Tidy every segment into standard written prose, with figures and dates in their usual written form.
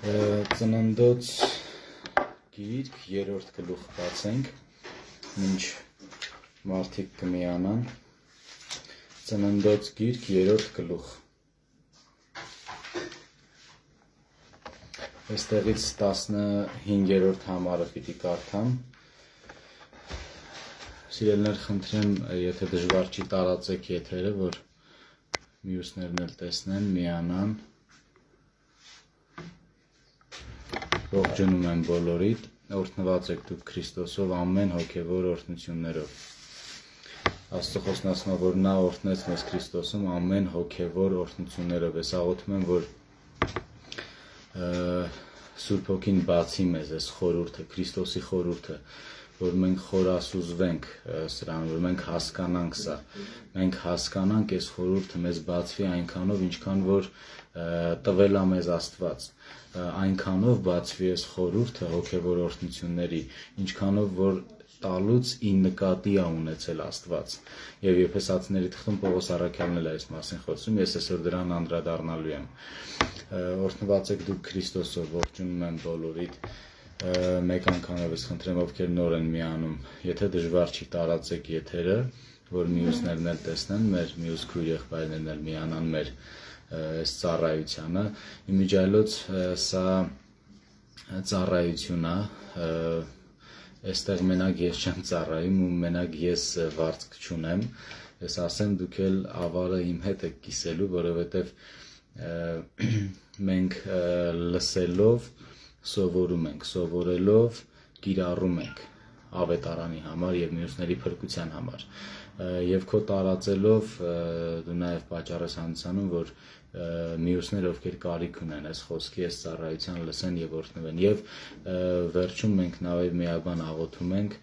Ծննդոց գիրք երրորդ գլուխ բացենք, մինչ մարդիկ կմիանան, ծննդոց գիրք երրորդ գլուխ, այստեղից 15-րդ համարը պիտի կարդամ, սիրելներ խնդրեմ, եթե դժվար չի տարածեք եթերը, որ մյուսներն էլ տեսնեն, միանան, ողջունում եմ բոլորիդ, օրհնված եք դուք Քրիստոսով ամեն հոգևոր օրհնություններով։ Աստծո խոսնացնա, որ նա օրհնեց մեզ Քրիստոսում ամեն հոգևոր օրհնություններով։ Ես աղոթում եմ, որ Սուրբ Հոգին բացի մեզ այս խորհուրդը, Քրիստոսի խորհուրդը, որ մենք խորասուզվենք սրան, որ մենք հասկանանք սա, մենք հասկանանք այս խորհուրդը մեզ բացվի այնքանով, ինչքան որ տվել է մեզ Աստված, այնքանով բացվի այս խորհուրդը հոգևոր օրհնությունների, ինչքանով որ տալուց ի նկատի է ունեցել Աստված։ Եվ Եփեսացիների թղթում Պողոս առաքյալն էլ այս մասին խոսում, ես այսօր դրան անդրադառնալու եմ։ Օրհնված եք դուք Քրիստոսով, ողջունում եմ բոլորիդ, մեկ անգամով ես խնդրեմ, ովքեր նոր են միանում, եթե դժվար չի տարածեք եթերը, որ մյուսներն էլ տեսնեն, մեր մյուս քույր եղբայրներն էլ միանան մեր այս ծառայությանը, իմիջիայլոց սա ծառայություն է, այստեղ մենակ ես չեմ ծառայում ու մենակ ես վարձք չունեմ, ես ասեմ դուք էլ ավարը իմ հետ եք կիսելու, որովհետև մենք լսելով սովորում ենք, սովորելով կիրառում ենք ավետարանի համար և մյուսների փրկության համար և քո տարածելով դու նաև պատճառ ես հանդիսանում, որ մյուսներ ովքեր կարիք ունեն այս խոսքի, այս ծառայության լսեն և օրհնվեն և վերջում մենք նաև միաբան աղոթում ենք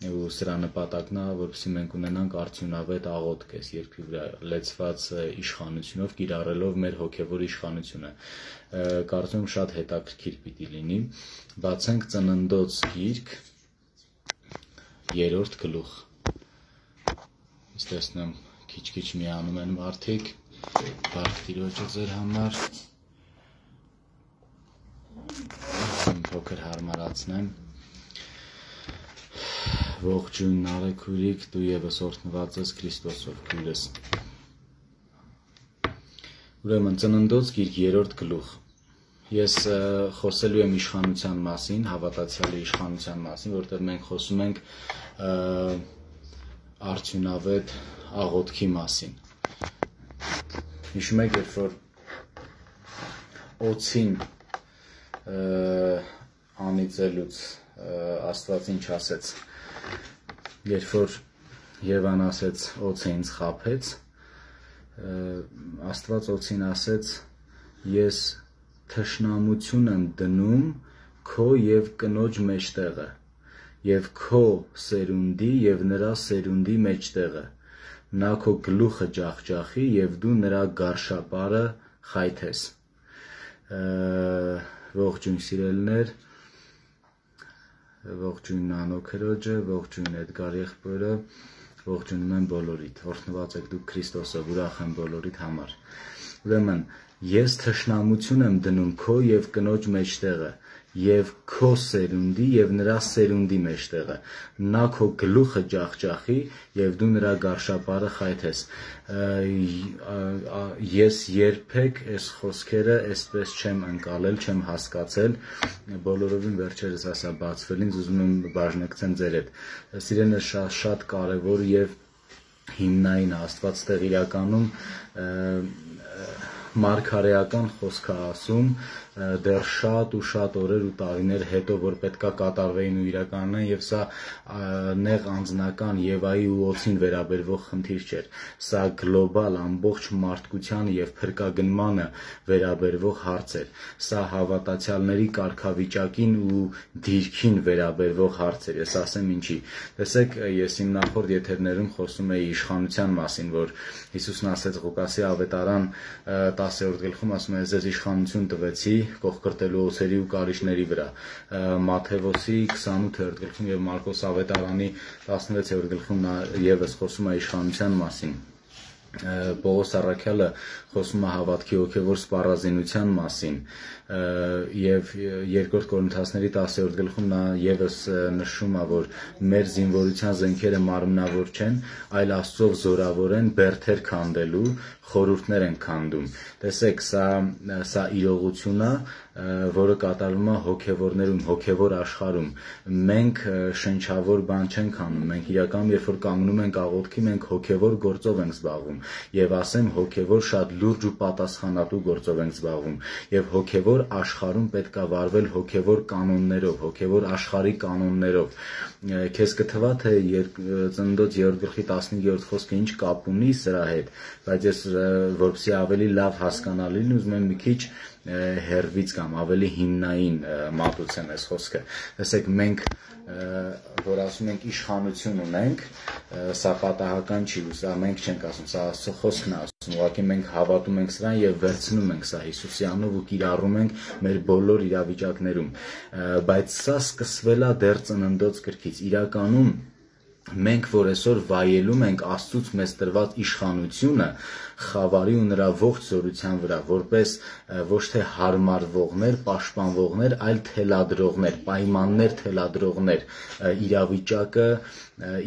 ու սրա նպատակն է, որպեսզի մենք ունենանք արդյունավետ աղոթք այս երկրի վրա լեցված իշխանությունով, կիրառելով մեր հոգևոր իշխանությունը։ Կարծում եմ շատ հետաքրքիր պիտի լինի։ Բացենք ծննդոց գիրք, երրորդ գլուխ։ Ես տեսնում եմ քիչ-քիչ միանում են մարդիկ, բարք Տիրոջը ձեր համար, փոքր հարմարացնեմ։ Ողջույն արեքուրիկ, դու ևս օրհնված ես Քրիստոսով, քույրս։ Ուրեմն ծննդոց գիրք երրորդ գլուխ։ Ես խոսելու եմ իշխանության մասին, հավատացյալի իշխանության մասին, որտեղ մենք խոսում ենք արդյունավետ աղոթքի մասին։ Հիշում եք, երբ որ օձին անիծելուց Աստված ինչ ասեց, երբ որ Եվան ասեց օձը ինձ խաբեց, Աստված օձին ասեց ես թշնամություն եմ դնում քո և կնոջ մեջտեղը և քո սերունդի և նրա սերունդի մեջտեղը, նա քո գլուխը ջախջախի և դու նրա գարշապարը խայթես։ Ողջույն սիրելիներ, ողջույն Նանո քրոջը, ողջույն Էդգար եղբորը, ողջունում եմ բոլորիդ, օրհնված եք դուք Քրիստոսով, ուրախ եմ բոլորիդ համար։ Ուրեմն ես թշնամություն եմ դնում քո և կնոջ մեջտեղը և քո սերունդի և նրա սերունդի մեջտեղը, նա քո գլուխը ջախջախի և դու նրա գարշապարը խայթես։ Ես երբեք այս խոսքերը այսպես չեմ ընկալել, չեմ հասկացել, բոլորովին վերջերս ասա բացվել ինձ, ուզում եմ բաժնեկցեմ ձեր հետ։ Սիրելիներ, շատ կարևոր և հիմնային Աստված ստեղ իրականում մարգարեական խոսք է ասում դեռ շատ ու շատ օրեր ու տարիներ հետո, որ պետք է կատարվեին ու իրականանային, և սա նեղ անձնական Եվայի ու օձին վերաբերվող խնդիր չէր, սա գլոբալ ամբողջ մարդկությանը և փրկագնմանը վերաբերվող հարց էր, սա հավատացյալների կարգավիճակին ու դիրքին վերաբերվող հարց էր, ես ասեմ ինչի։ Տեսեք, ես իմ նախորդ եթերներում խոսում էի իշխանության մասին, որ Հիսուսն ասեց Ղուկասի ավետարան 10-րդ գլխում, ասում է ձեզ իշխանություն տվեցի կողկրտելու օձերի ու կարիճների վրա, Մատթեոսի 28-րդ գլխում և Մարկոս ավետարանի 16-րդ գլխում նա ևս խոսում է իշխանության մասին։ Պողոս առաքյալը խոսում է հավատքի հոգևոր սպառազինության մասին եւ 2 Կորինթացների 10-րդ գլխում նա եւս նշում է, որ մեր զինվորության զենքերը մարմնավոր չեն, այլ Աստծով զորավոր են բերդեր քանդելու, խորհուրդներ են քանդում։ Տեսեք, սա իրողություն է, որը կատարվում է հոգևորներում, հոգևոր աշխարհում։ Մենք շնչավոր բան չենք անում, մենք իրականում երբ որ կանգնում ենք աղոթքի, մենք հոգևոր գործով ենք զբաղվում, եւ ասեմ հոգևոր շատ լուրջ ու պատասխանատու գործով ենք զբաղվում, եւ հոգևոր աշխարհում պետք է վարվել հոգևոր կանոններով, հոգևոր աշխարհի կանոններով։ Քեզ կթվա թե Ծննդոց 3:15 խոսքը ինչ կապ ունի սրա հետ, բայց ես որպեսզի ավելի լավ հասկանալի լինի, ուզում եմ մի քիչ հերվից կամ ավելի հիմնային մատուցեմ այս խոսքը։ Տեսեք, մենք որ ասում ենք իշխանություն ունենք, սա պատահական չի, սա մենք չենք ասում, սա Աստծո խոսքն է ասում, ուղղակի մենք հավատում ենք սրան եւ վերցնում ենք սա Հիսուսի անունով ու կիրառում ենք մեր բոլոր իրավիճակներում, բայց սա սկսվել է դեռ Ծննդոց գրքից։ Իրականում մենք որ այսօր վայելում ենք Աստծուց մեզ տրված իշխանությունը խավարի ու նրա ողջ զորության վրա, որպես ոչ թե հարմարվողներ, պաշտպանվողներ, այլ թելադրողներ, պայմաններ թելադրողներ,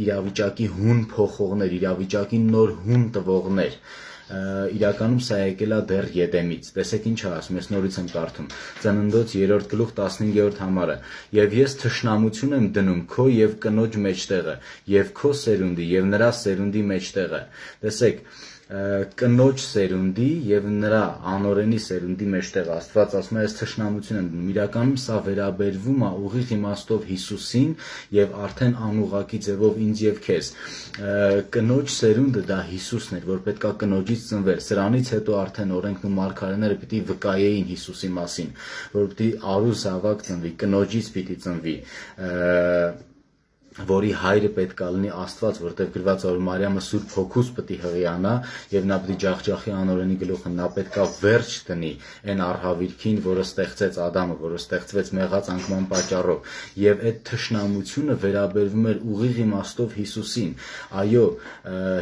իրավիճակի հուն փոխողներ, իրավիճակի նոր հուն տվողներ։ Իրականում սա եկել է դեռ Եդեմից։ Տեսեք ինչ է ասում, ես նորից եմ կարդում։ Ծննդոց 3:15 համարը։ Եվ ես թշնամություն եմ դնում քո եւ կնոջ մեջտեղը, եւ քո սերունդի եւ նրա սերունդի մեջտեղը։ Տեսեք, կնոջ սերունդի եւ նրա անօրենի սերունդի մեջտեղ Աստված ասում է ես թշնամություն եմ դնում։ Իրականում սա վերաբերվում է ուղիղ իմաստով Հիսուսին եւ արդեն անուղակի ձևով ինձ եւ քեզ։ Կնոջ սերունդը դա Հիսուսն էր, որ պետքա կնոջից ծնվեր։ Սրանից հետո արդեն օրենքն ու մարգարեները պիտի վկայեին Հիսուսի մասին, որ պիտի արու զավակ ծնվի, կնոջից պիտի ծնվի, որի հայրը պետք է լինի Աստված, որտեղ գրված է որ Մարիամը Սուրբ Հոգուց պետք է հղիանա եւ նա պետք է ջախջախի անօրենի գլուխը, նա պետք է վերջ դնի այն արհավիրքին, որը ստեղծեց Ադամը, որը ստեղծվեց մեղած անկման պատճառով, եւ այդ թշնամությունը վերաբերվում էր ուղիղ իմաստով Հիսուսին։ Այո,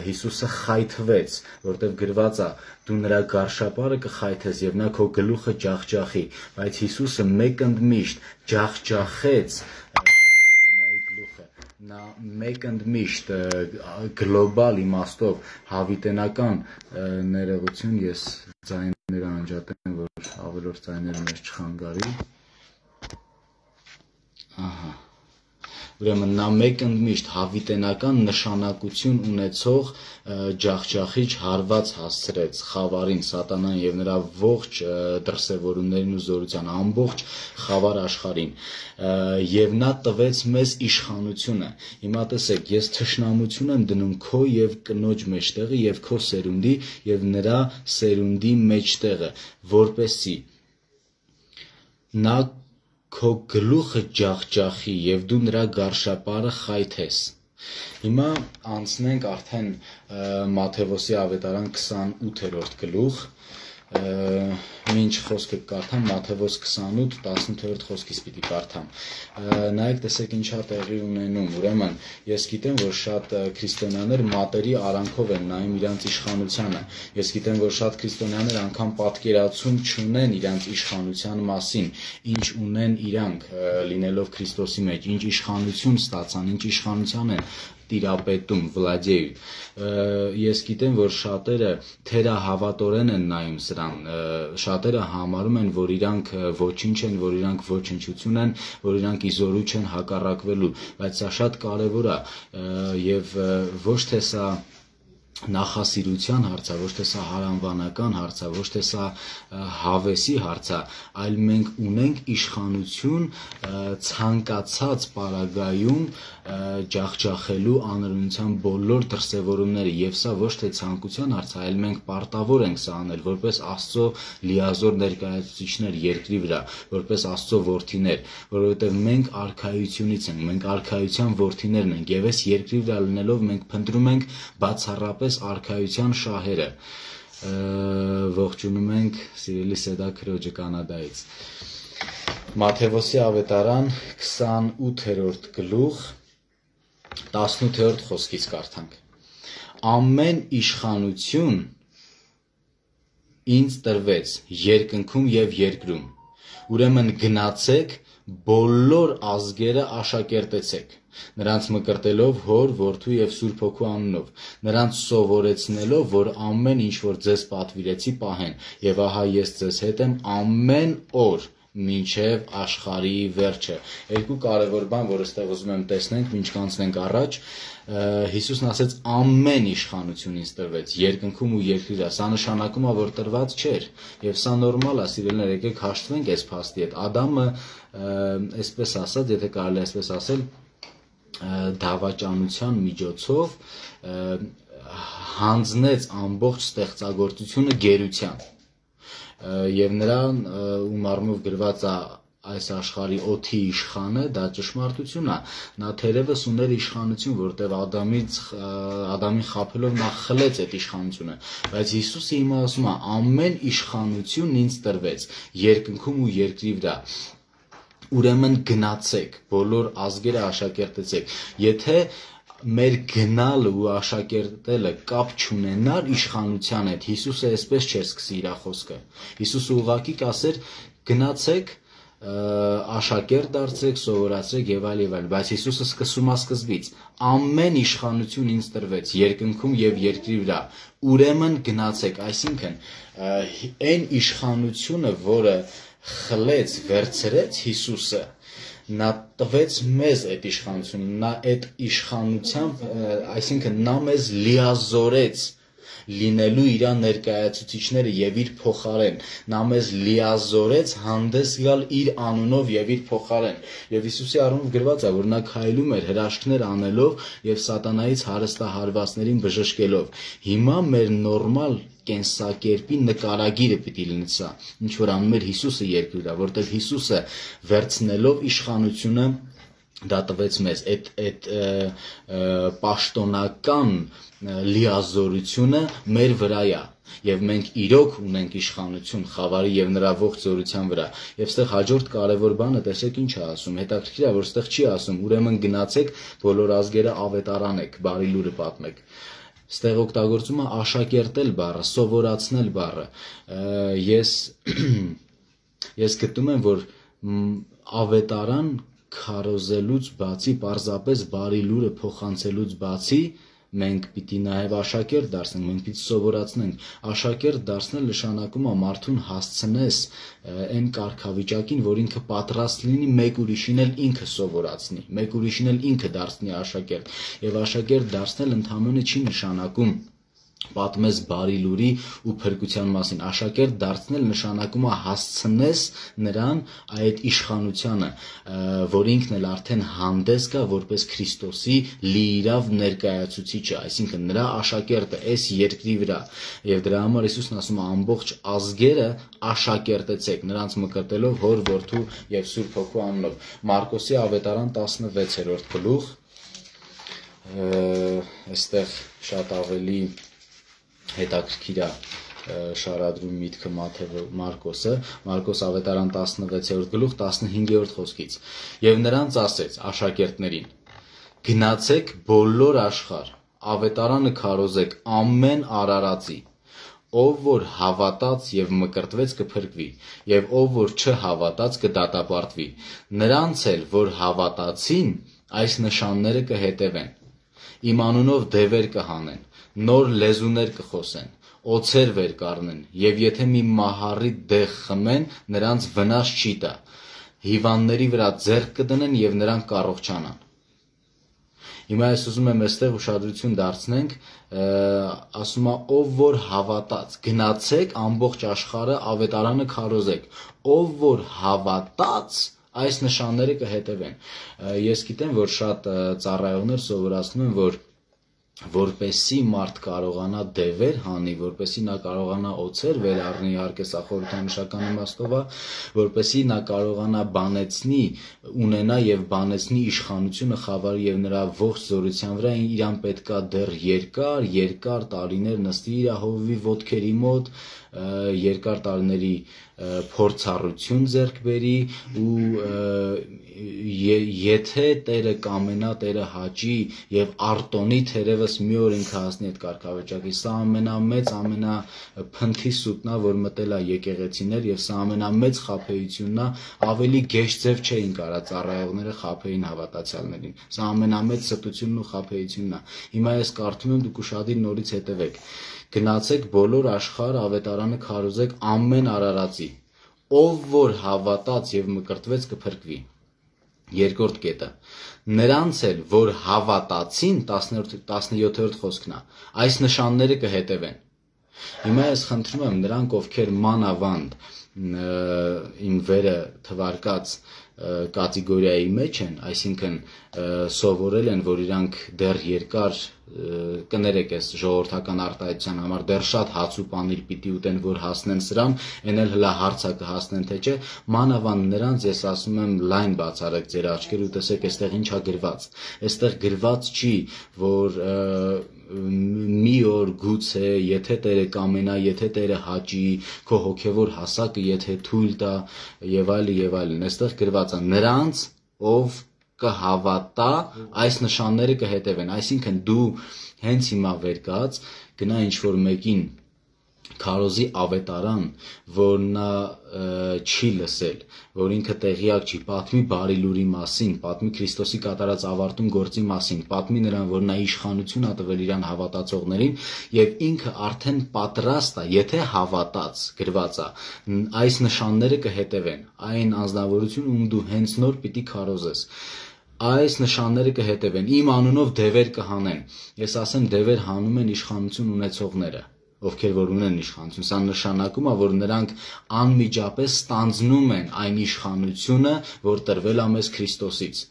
Հիսուսը խայթվեց, որտեղ գրված է դու նրա գարշապարը կխայթես եւ նա քո գլուխը ջախջախի, բայց Հիսուսը մեկ ընդմիշտ ջախջախեց նա մեկ ընդմիշտ գլոբալ իմաստով հավիտենական ներողություն, ես ձայները անջատեմ, որ ավելորդ ձայները մեզ չխանգարի։ Ահա։ Ուրեմն նա մեկ ընդմիշտ հավիտենական նշանակություն ունեցող ջախջախիչ հարված հասցրեց խավարին, սատանան եւ նրա ողջ դրսևորումներին ու զորության, ամբողջ խավար աշխարհին, եւ նա տվեց մեզ իշխանությունը։ Հիմա տեսեք, ես թշնամություն եմ դնում քո եւ կնոջ մեջտեղը եւ քո սերունդի եւ նրա սերունդի մեջտեղը, որպեսզի նա քո գլուխը ջախջախի եւ դու նրա գարշապարը խայթես։ Հիմա անցնենք արդեն Մատթեոսի ավետարան 28-րդ գլուխ, Մինչ խոսքը կարդամ Մատթեոս 28:18 խոսքից պիտի կարդամ։ Նայեք, տեսեք ինչա տեղի ունենում։ Ուրեմն ես գիտեմ, որ շատ քրիստոնյաներ մատերի արանքով են նայում իրանց իշխանությանը։ Ես գիտեմ, որ շատ քրիստոնյաներ անգամ պատկերացում չունեն իրանց իշխանության մասին, ինչ ունեն իրանք լինելով Քրիստոսի մեջ, ինչ իշխանություն ստացան, ինչ իշխանության են տիրապետում, վլադեյ։ Ես գիտեմ, որ շատերը թերահավատորեն են նայում սրան, շատերը համարում են, որ իրանք ոչինչ են, որ իրանք ոչնչություն են, որ իրանք իզորու չեն հակառակվելու, բայց սա շատ կարևոր է եւ ոչ թե սա նախասիրության հարց է, ոչ թե սա հարանվանական հարց է, ոչ թե սա հավեսի հարց է, այլ մենք ունենք իշխանություն ցանկացած պարագայում ջախջախելու անօրենության բոլոր դրսևորումները, եւ սա ոչ թե ցանկության հարց է, այլ մենք պարտավոր ենք սա անել որպես Աստծո լիազոր ներկայացուցիչներ երկրի վրա, որպես Աստծո որդիներ, որովհետեւ մենք արքայությունից ենք, մենք արքայության որդիներն ենք, եւ այս երկրի վրա լինելով մենք փնտրում ենք բացառապես արքայության շահերը։ Ողջունում ենք սիրելի Սեդա քրոջը Կանադայից։ Մատթեոսի ավետարան 28-րդ գլուխ 18-րդ խոսքից կարդանք։ ամեն իշխանություն ինձ տրվեց երկնքում եւ երկրում։ Ուրեմն գնացեք, բոլոր ազգերը աշակերտեցեք, նրանց մկրտելով Հոր, Որդու եւ Սուրբ Հոգու անունով, նրանց սովորեցնելով, որ ամեն ինչ որ ձեզ պատվիրեցի պահեն, եւ ահա ես ձեզ հետ եմ ամեն օր մինչև աշխարհի վերջը։ Երկու կարևոր բան, որ այստեղ ուզում եմ տեսնենք, մինչ կանցնենք առաջ, Հիսուսն ասեց ամեն իշխանություն ինձ տրվեց երկնքում ու երկրի վրա։ Սա նշանակում է, որ տրված չէր, եւ սա նորմալ է, սիրելիներ, եկեք հաշտվենք այս փաստի հետ։ Ադամը, այսպես ասած, եթե կարելի է այսպես ասել, դավաճանության միջոցով հանձնեց ամբողջ ստեղծագործությունը գերության։ Եվ նրան ում առումով գրված է այս աշխարհի օդի իշխանը, դա ճշմարտություն է։ Նա թերևս ուներ իշխանություն, որտեղ Ադամին խաբելով նա խլեց այդ իշխանությունը, բայց Հիսուսը հիմա ասում է ամեն իշխանություն ինձ տրվեց երկնքում ու երկրի վրա։ Ուրեմն գնացեք, բոլոր ազգերը աշակերտեցեք։ Եթե մեր գնալը ու աշակերտելը կապ չունենար իշխանության հետ, Հիսուսը այսպես չէր սկսի իր խոսքը։ Հիսուսը ուղղակի կասեր գնացեք, աշակերտ դարձեք, սովորացրեք եւ այլ, բայց Հիսուսը սկսում է սկզբից։ Ամեն իշխանություն ինձ տրվեց երկնքում եւ երկրի վրա։ Ուրեմն գնացեք, այսինքն այն իշխանությունը, որը խլեց, վերցրեց Հիսուսը, նա տվեց մեզ այդ իշխանությունը, նա այդ իշխանությամբ, այսինքն նա մեզ լիազորեց լինելու իր ներկայացուցիչները եւ իր փոխարեն, նա մեզ լիազորեց հանդես գալ իր անունով եւ իր փոխարեն։ Եվ Հիսուսի առումով գրված է, որ նա քայլում էր հրաշքներ անելով եւ սատանայից հարստահարվածներին բժշկելով։ Հիմա մեր նորմալ կենսակերպի նկարագիրը պիտի լինի սա, ինչ որ անում էր Հիսուսը երկրի վրա, որտեղ Հիսուսը վերցնելով իշխանությունը դա տվեց մեզ, այդ պաշտոնական լիազորությունը մեր վրա է, եւ մենք իրոք ունենք իշխանություն խավարի եւ նրա ողջ զորության վրա։ Եվ այստեղ հաջորդ կարևոր բանը տեսեք ինչ է ասում, հետաքրքիր է, որ այստեղ չի ասում ուրեմն գնացեք, բոլոր ազգերը ավետարանեք, բարի լուրը պատմեք։ Ստեղ օգտագործում է աշակերտել բառը, սովորացնել բառը։ Ես գտնում եմ, որ ավետարան քարոզելուց բացի, պարզապես բարի լուրը փոխանցելուց բացի, մենք պիտի նաև աշակերտ դարձնենք, մենք պիտի սովորացնենք։ Աշակերտ դարձնել նշանակում է մարդուն հասցնես այն կարգավիճակին, որ ինքը պատրաստ լինի մեկ ուրիշին էլ ինքը սովորացնի, մեկ ուրիշին էլ ինքը դարձնի աշակերտ։ Եվ աշակերտ դարձնել ընդհանրապես չի նշանակում պատմես բարի լուրի ու փրկության մասին։ Աշակերտ դարձնել նշանակում է հասցնես նրան այդ իշխանությանը, որ ինքն էլ արդեն հանդես գա որպես Քրիստոսի լիիրավ ներկայացուցիչը, այսինքն նրա աշակերտը այս երկրի վրա։ Եվ դրա համար Հիսուսն ասում է ամբողջ ազգերը աշակերտեցեք, նրանց մկրտելով Հոր, Որդու եւ Սուրբ Հոգու անունով։ Մարկոսի ավետարան 16-րդ գլուխ, այստեղ շատ ավելի հետաքրքիր է շարադրում միտքը Մարկոսը, Մարկոս ավետարան 16-րդ գլուխ 15-րդ խոսքից։ Եվ նրանց ասեց աշակերտներին. գնացեք բոլոր աշխարհ, ավետարանը քարոզեք ամեն արարածի, ով որ հավատաց եւ մկրտվեց կփրկվի, եւ ով որ չհավատաց կդատապարտվի։ Նրանց էլ որ հավատացին, այս նշանները կհետևեն. իմ անունով դևեր կհանեն, նոր լեզուներ կխոսեն, օձեր վեր կառնեն, եւ եթե մի մահառի դեղ խմեն, նրանց վնաս չի տա, հիվանդների վրա ձեռք կդնեն եւ նրանք կառողջանան։ Հիմա ես ուզում եմ այստեղ ուշադրություն դարձնենք, ասում է ով որ հավատաց, գնացեք ամբողջ աշխարհը ավետարանը քարոզեք, ով որ հավատաց, այս նշանները կհետևեն։ Ես գիտեմ, որ շատ ծառայողներ սովորացնում են, որ որպեսի մարդ կարողանա դևեր հանի, որպեսի նա կարողանա օձեր վեր առնի, իհարկե սա խորհրդանշական իմաստով է, որպեսի նա կարողանա բանեցնի, ունենա եւ բանեցնի իշխանությունը խավարի եւ նրա ողջ զորության վրա, իրան պետքա դեռ երկար տարիներ նստի իր հովվի ոտքերի մոտ, երկար տարիների փորձառություն ձեռք բերի ու եթե Տերը կամենա, Տերը հաճի եւ արտոնի թերևս մի օր ինքը հասնի այդ կարգավիճակի, սա ամենամեծ, ամենափնթի սուտն է, որ մտել է եկեղեցիներ եւ սա ամենամեծ խաբեությունն է, ավելի գեշ ձև չէին կարա ծառայողները խաբեին հավատացյալներին, սա ամենամեծ ստությունն ու խաբեությունն է։ Հիմա ես կարդում եմ, դուք ուշադիր նորից հետևեք, գնացեք բոլոր աշխարհ ավետարանը քարոզեք ամեն արարածի, ով որ հավատաց եւ մկրտվեց կփրկվի։ Երկրորդ կետը, նրանց էլ որ հավատացին, 17-րդ խոսքն է, այս նշանները կհետևեն։ Հիմա ես խնդրում եմ նրանք, ովքեր մանավանդ իմ վերը թվարկած կատեգորիայի մեջ են, այսինքն սովորել են, որ իրանք դեռ երկար կներեք այս ժողովրդական արտահայտության համար դեռ շատ հաց ու պանիր պիտի ուտեն, որ հասնեն սրան, այն էլ հլա հարցը կհասնեն թե չէ, մանավանդ նրանց ես ասում եմ լայն բացառեք ձեր աչքերը ու տեսեք այստեղ ինչա գրված։ Այստեղ գրված չի, որ մի օր գուցե, եթե Տերը կամենա, եթե Տերը հաճի, քո հոգևոր հասակը եթե թույլ տա եւ այլն, այստեղ գրված է նրանց, ով կհավատա, այս նշանները կհետևեն, այսինքն դու հենց հիմա վեր կաց, գնա ինչ-որ մեկին քարոզի ավետարան, որ նա չի լսել, որ ինքը տեղյակ չի, պատմի բարի լուրի մասին, պատմի Քրիստոսի կատարած ավարտուն գործի մասին, պատմի նրան, որ նա իշխանություն ա տվել իրան հավատացողներին եւ ինքը արդեն պատրաստ է, եթե հավատաց, գրված է, այս նշանները կհետևեն, այն անձնավորություն, ում դու հենց նոր պիտի քարոզես։ Այս նշանները կհետևեն, իմ անունով դևեր կհանեն, ես ասեմ դևեր հանում են իշխանություն ունեցողները, ովքեր որ ունեն իշխանություն, սա նշանակում է, որ նրանք անմիջապես ստանձնում են այն իշխանությունը, որ տրվել է մեզ Քրիստոսից։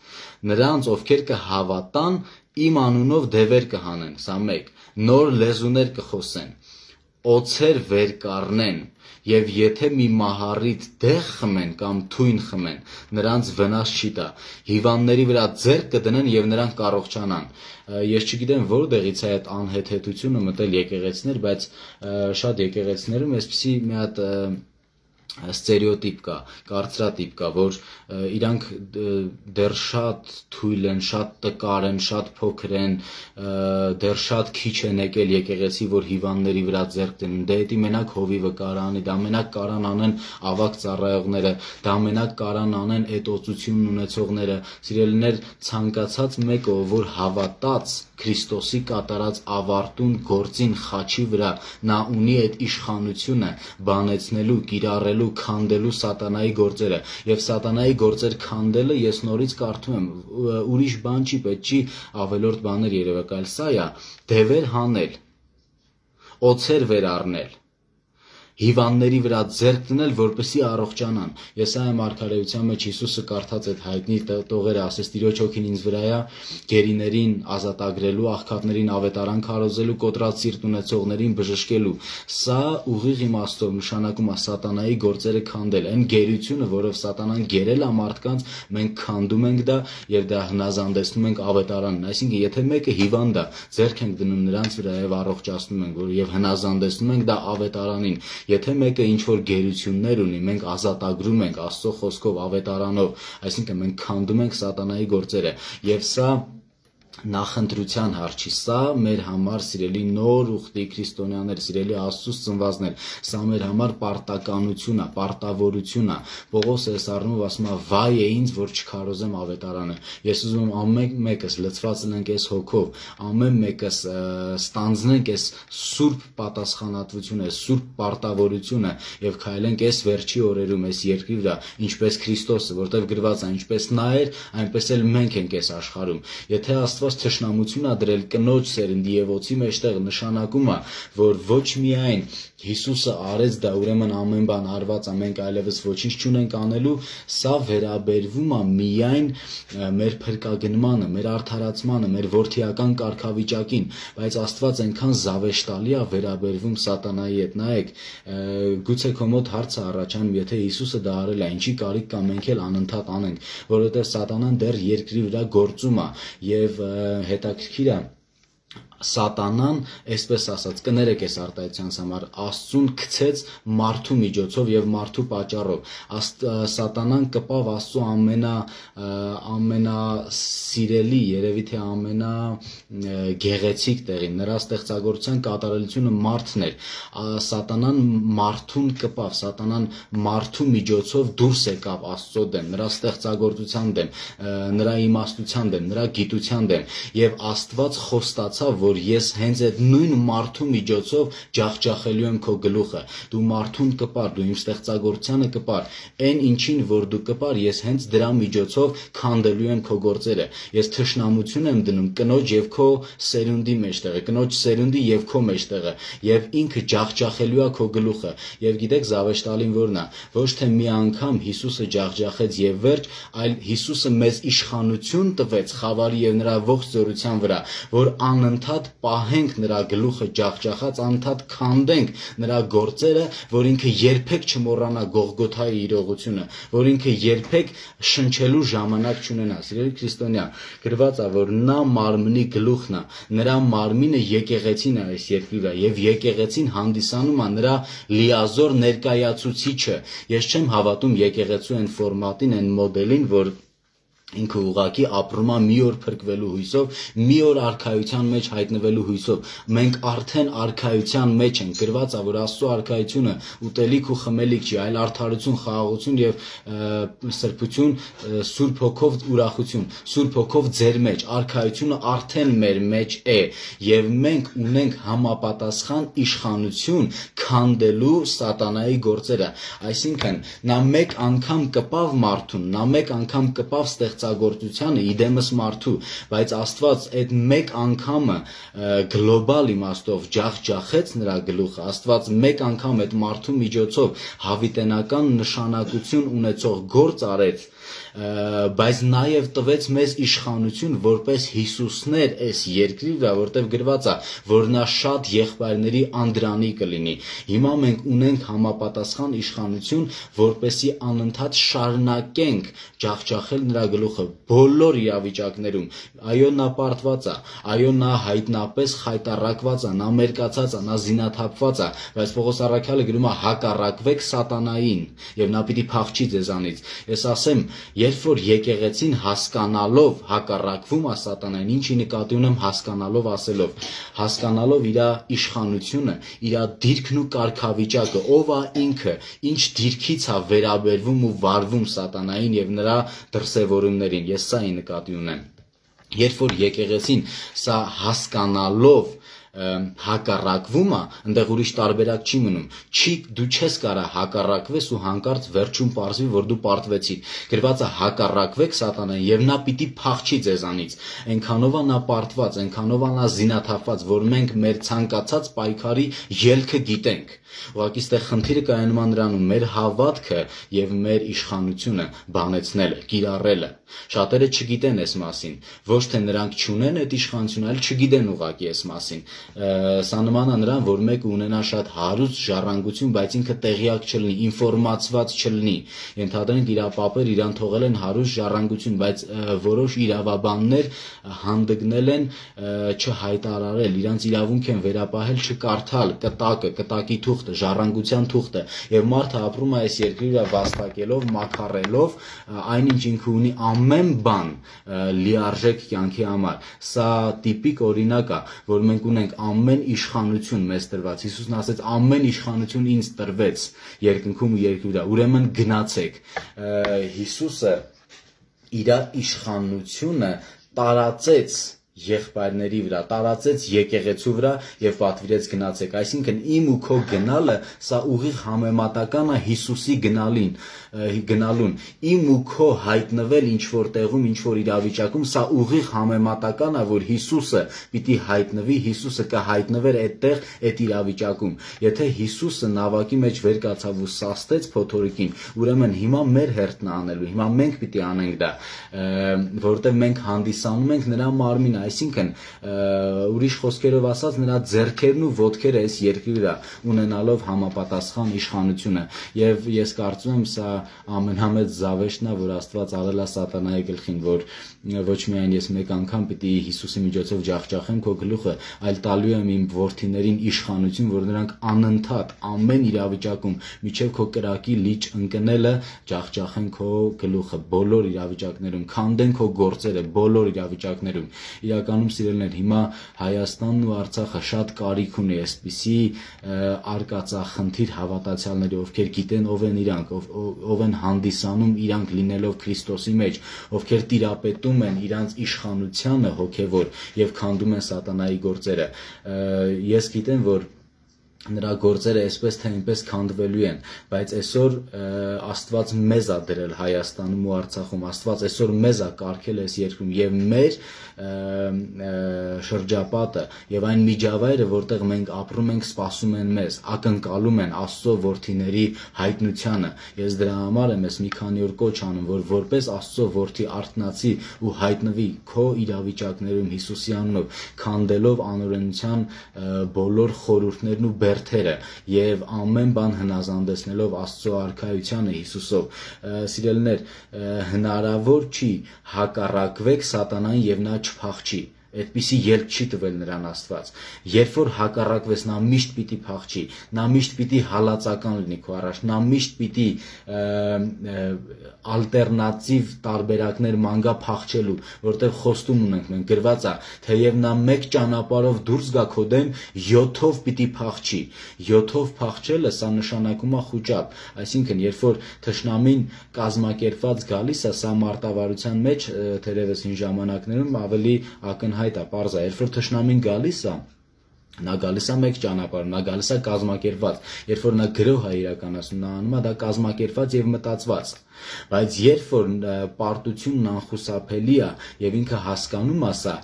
Նրանց, ովքեր կհավատան, իմ անունով դևեր կհանեն, սա մեկ, նոր լեզուներ կխոսեն, օձեր վեր կառնեն, եւ եթե մի մահառիտ դեղ խմեն կամ թույն խմեն, նրանց վնաս չի տա, հիվանդների վրա ձեռք կդնեն եւ նրանք կառողջանան։ Ես չգիտեմ որտեղից է այդ անհեթեթությունը մտել եկեղեցիներ, բայց շատ եկեղեցիներում այսպեսի մի հատ ստերեոտիպ կա, կարծրատիպ կա, որ իրանք դեռ շատ թույլ են, շատ տկար են, շատ փոքր են, դեռ շատ քիչ են եկել եկեղեցի, որ հիվանդների վրա ձեռք դնեն, դե էդի մենակ հովիվը կարան, դա մենակ կարան անեն ավակ ծառայողները, դա մենակ կարան անեն այդ օծությունն ունեցողները, սիրելիներ, ցանկացած մեկը, որ հավատաց Քրիստոսի կատարած ավարտուն գործին խաչի վրա, նա ունի այդ իշխանությունը բանեցնելու, կիրառելու, քանդելու սատանայի գործերը եւ սատանայի գործեր քանդելը ես նորից կարդում եմ, ուրիշ բան չի, պետք չի ավելորդ բաներ երևակայել, սա է դևեր հանել, օձեր վեր առնել, հիվանդների վրա ձեռք դնել, որպեսզի առողջանան։ Եսայա մարգարեության մեջ Հիսուսը կարդաց այդ հայտնի տողերը, ասես Տիրոջ հոգին ինձ վրա է, գերիներին ազատագրելու, աղքատներին ավետարան քարոզելու, կոտրած սիրտ ունեցողներին բժշկելու։ Սա ուղիղ իմաստով նշանակում է սատանայի գործերը քանդել, այն գերությունը, որով սատանան գերել է մարդկանց, մենք քանդում ենք դա եւ դա հնազանդեցնում ենք ավետարանին։ Այսինքն, եթե մեկը հիվանդ է, ձեռք ենք դնում նրանց վրա եւ առողջացնում ենք, որ եւ հնազանդեցնում ենք դա ավետարանին։ Եթե մեկը ինչ-որ գերություններ ունի, մենք ազատագրում ենք Աստծո խոսքով, ավետարանով, այսինքն մենք քանդում ենք սատանայի գործերը եւ սա նախընտրության հարց չի, սա մեր համար սիրելի նոր ուխտի քրիստոնյաներ, սիրելի Աստծուց ծնվածներ, սա մեր համար պարտականություն է, պարտավորություն է։ Պողոս էս առնումով ասում է վայ է ինձ, որ չքարոզեմ ավետարանը։ Ես ուզում եմ ամեն մեկս լցված լինենք այս հոգով, ամեն մեկս ստանձնենք այս սուրբ պատասխանատվությունը, սուրբ պարտավորությունը եւ քայլենք այս վերջի օրերում այս երկրի վրա, ինչպես Քրիստոսը, որտեղ գրված է, ինչպես նա էր, այնպես էլ մենք ենք այս աշխարհում։ Եթե Աստված թշնամություն ա դրել կնոջ սերնդի եւ օծի մեջտեղ, նշանակում է, որ ոչ միայն Հիսուսը արեց դա, ուրեմն ամեն բան արված է, մենք այլևս ոչինչ չունենք անելու, սա վերաբերվում է միայն մեր փրկագնմանը, մեր արդարացմանը, մեր որդիական կարգավիճակին, բայց Աստված այնքան զավեշտալի է վերաբերվում սատանայի հետ։ Նայեք, գուցե քո մոտ հարց է առաջանում, եթե Հիսուսը դա արել է, ինչի կարիք կա մենք էլ անընդհատ անենք, որովհետեւ սատանան դեռ երկրի վրա գործում է եւ հետաքրքիր է Սատանան, այսպես ասած, կներեք այս արտահայտությանց համար, Աստծուն գցեց մարդու միջոցով եւ մարդու պատճառով։ Սատանան կպավ Աստծո ամենասիրելի, երևի թե ամենագեղեցիկ տեղին, նրա ստեղծագործության կատարելությունը մարդն էր։ Սատանան մարդուն կպավ, Սատանան մարդու միջոցով դուրս եկավ Աստծո դեմ, նրա ստեղծագործության դեմ, նրա իմաստության դեմ, նրա գիտության դեմ, եւ Աստված խոստացավ, որ ես հենց այդ նույն մարդու միջոցով ջախջախելու եմ քո գլուխը, դու մարդուն կպար, դու իմ ստեղծագործությանը կպար, այն ինչին որ դու կպար, ես հենց դրա միջոցով քանդելու եմ քո գործերը, ես թշնամություն եմ դնում կնոջ եւ քո սերունդի մեջտեղը, կնոջ սերունդի եւ քո մեջտեղը, եւ ինքը ջախջախելու է քո գլուխը, եւ գիտեք զավեշտալին որն է, ոչ թե մի անգամ Հիսուսը ջախջախեց եւ վերջ, այլ Հիսուսը մեզ իշխանություն տվեց խավարի եւ նրա ողջ զորության վրա, որ անընդհատ պահենք նրա գլուխը ջախջախած, անընդհատ քանդենք նրա գործերը, որ ինքը երբեք չմոռանա Գողգոթայի իրողությունը, որ ինքը երբեք շնչելու ժամանակ չունենա։ Սիրելի քրիստոնյա, գրված է, որ նա մարմնի գլուխն է, նրա մարմինը եկեղեցին է այս երկրի վրա, եւ եկեղեցին հանդիսանում է նրա լիազոր ներկայացուցիչը։ Ես չեմ հավատում եկեղեցու այն ֆորմատին, այն մոդելին, որ ինքը ուղակի ապրում է մի օր փրկվելու հույսով, մի օր արքայության մեջ հայտնվելու հույսով։ Մենք արդեն արքայության մեջ ենք, գրված է, որ Աստծո արքայությունը ուտելիք ու խմելիք չի, այլ արդարություն, խաղաղություն եւ սրբություն, Սուրբ Հոգով ուրախություն, Սուրբ Հոգով ձեր մեջ, արքայությունը արդեն մեր մեջ է, եւ մենք ունենք համապատասխան իշխանություն քանդելու սատանայի գործերը։ Այսինքն, նա մեկ անգամ կպավ մարդուն, նա մեկ անգամ կպավ ստեղծագործությանը իդեմս մարդու, բայց Աստված այդ մեկ անգամը գլոբալ իմաստով ջախջախեց նրա գլուխը, Աստված մեկ անգամ այդ մարդու միջոցով հավիտենական նշանակություն ունեցող գործ արեց, բայց նաև տվեց մեզ իշխանություն որպես Հիսուսներ այս երկրի վրա, որտեղ գրված է, որ նա շատ եղբայրների անդրանի կլինի։ Հիմա մենք ունենք համապատասխան իշխանություն, որպեսզի անընդհատ շարունակենք ջախջախել նրա գլուխը բոլոր իրավիճակներում։ Այո, նա պարտված է, այո, նա հայտնապես խայտառակված է, նա մերկացած է, նա զինաթափված է, բայց Պողոս առաքյալը գրում է հակառակվեք սատանային, եւ նա պիտի փախչի ձեզանից։ Ես ասեմ, երբ որ եկեղեցին հասկանալով հակառակվում է սատանային, ինչի նկատի ունեմ հասկանալով ասելով, հասկանալով իր իշխանությունը, իր դիրքն ու կարգավիճակը, ով է ինքը, ինչ դիրքից է վերաբերվում ու վարվում սատանային եւ նրա դրսևորումներին, ես սա նկատի ունեմ։ Երբ որ եկեղեցին սա հասկանալով հակառակվում է, այնտեղ ուրիշ տարբերակ չի մնում։ Դու չես կարա հակառակվես ու հանկարծ վերջում պարզվի, որ դու պարտվեցիր։ Գրված է հակառակվեք սատանային եւ նա պիտի փախչի ձեզանից։ Այնքանով է նա պարտված, այնքանով է նա զինաթափված, որ մենք մեր ցանկացած պայքարի ելքը գիտենք։ Ուղղակի ստեղ խնդիրը կայանում է նրանում մեր հավատքը եւ մեր իշխանությունը բանեցնելը, կիրառելը։ Շատերը չգիտեն այս մասին, ոչ թե նրանք չունեն այդ իշխանությունը, այլ չգիտեն ուղղակի այս մասին։ Սա նման է նրան, որ մեկը ունենա շատ հարուստ ժառանգություն, բայց ինքը տեղյակ չլինի, ինֆորմացված չլինի։ Ենթադրենք իր պապեր իրան թողել են հարուստ ժառանգություն, բայց որոշ իրավաբաններ հանդգնել են չհայտարարել, իրանց իրավունք են վերապահել չկարդալ կտակի թուղթը, ժառանգության թուղթը, եւ մարդը ապրում է այս երկրի վրա վաստակելով, մաքարելով այնինչ ինքը ունի ամեն բան լիարժեք կյանքի համար։ Սա տիպիկ օրինակ է, որ մենք ունենք ամեն իշխանություն մեզ տրված։ Հիսուսն ասեց ամեն իշխանություն ինձ տրվեց երկնքում ու երկրի վրա, ուրեմն գնացեք։ Հիսուսը իր իշխանությունը տարածեց եղբայրների վրա, տարածեց եկեղեցու վրա եւ պատվիրեց գնացեք։ Այսինքն իմ ու քո գնալը սա ուղիղ համեմատական է Հիսուսի գնալուն։ Իմ ու քո հայտնվել ինչ որ տեղում, ինչ որ իրավիճակում, սա ուղիղ համեմատական է, որ Հիսուսը պիտի հայտնվի, Հիսուսը կհայտնվեր այդտեղ, այդ իրավիճակում։ Եթե Հիսուսը նավակի մեջ վեր կացավ ու սաստեց փոթորիկին, ուրեմն հիմա մեր հերթն է անելու, հիմա մենք պիտի անենք դա, որովհետեւ մենք հանդիսանում ենք նրա մարմինը, այսինքն ուրիշ խոսքերով ասած նրա ձեռքերն ու ոտքերը այս երկրի վրա ունենալով համապատասխան իշխանությունը եւ ես կարծում եմ սա ամենամեծ զավեշտն է որ Աստված արել է սատանայի գլխին որ ոչ միայն ես մեկ անգամ պիտի Հիսուսի միջոցով ջախջախեմ քո գլուխը այլ տալու եմ իմ որդիներին իշխանություն որ նրանք անընդհատ ամեն իրավիճակում միջև քո կրակի լիճ ընկնելը ջախջախեն քո գլուխը բոլոր իրավիճակներում քանդեն քո գործերը բոլոր իրավիճակներում իրականում սիրելիներ հիմա Հայաստանն ու Արցախը շատ կարիք ունի այսպիսի արկածախնդիր հավատացյալների ովքեր գիտեն ով են իրանք ով են հանդիսանում իրանք լինելով Քրիստոսի մեջ ովքեր տիրապետում են իրանց իշխանությանը հոգևոր եւ քանդում են սատանայի գործերը ես գիտեմ որ նրա գործերը այսպես թե այնպես քանդվելու են բայց այսօր Աստված մեզ է դրել Հայաստանում ու Արցախում Աստված այսօր մեզ է կարգել այս երկրում եւ մեր շրջապատը եւ այն միջավայրը որտեղ մենք ապրում ենք սպասում են մեզ ակնկալում են Աստծո որդիների հայտնությանը ես դրա համար եմ ես մի քանի օր կոչ անում որ որպես Աստծո որդի արթնացի ու հայտնվի քո իրավիճակներում Հիսուսի անունով քանդելով անօրենության բոլոր խորհուրդներն ու բերդերը եւ ամեն բան հնազանդեցնելով Աստծո արքայությանը Հիսուսով սիրելիներ հնարավոր չի հակառակվեք սատանային եւ նա չփախչի այդպիսի ելք չի տվել նրան Աստված երբ որ հակառակվես նա միշտ պիտի փախչի նա միշտ պիտի հալածական լինի քո առաջ նա միշտ պիտի ալտերնատիվ տարբերակներ մանգա փախչելու որտեղ խոստում ունենք մենք գրված է թեև նա մեկ ճանապարհով դուրս գա քո դեմ 7-ով պիտի փախչի 7-ով փախչելը սա նշանակում է խուճապ այսինքն երբ որ թշնամին կազմակերպված գալիս է սա մարտավարության մեջ թերևս հին ժամանակներում ավելի ակնհայտ պարզ է երբ որ թշնամին գալիս է նա գալիս է մեկ ճանապարհ նա գալիս է կազմակերպված երբ որ նա գրոհ է իրականացնում նա անում է դա կազմակերպված եւ մտածված բայց երբ որ պարտությունն անխուսափելի է եւ ինքը հասկանում է սա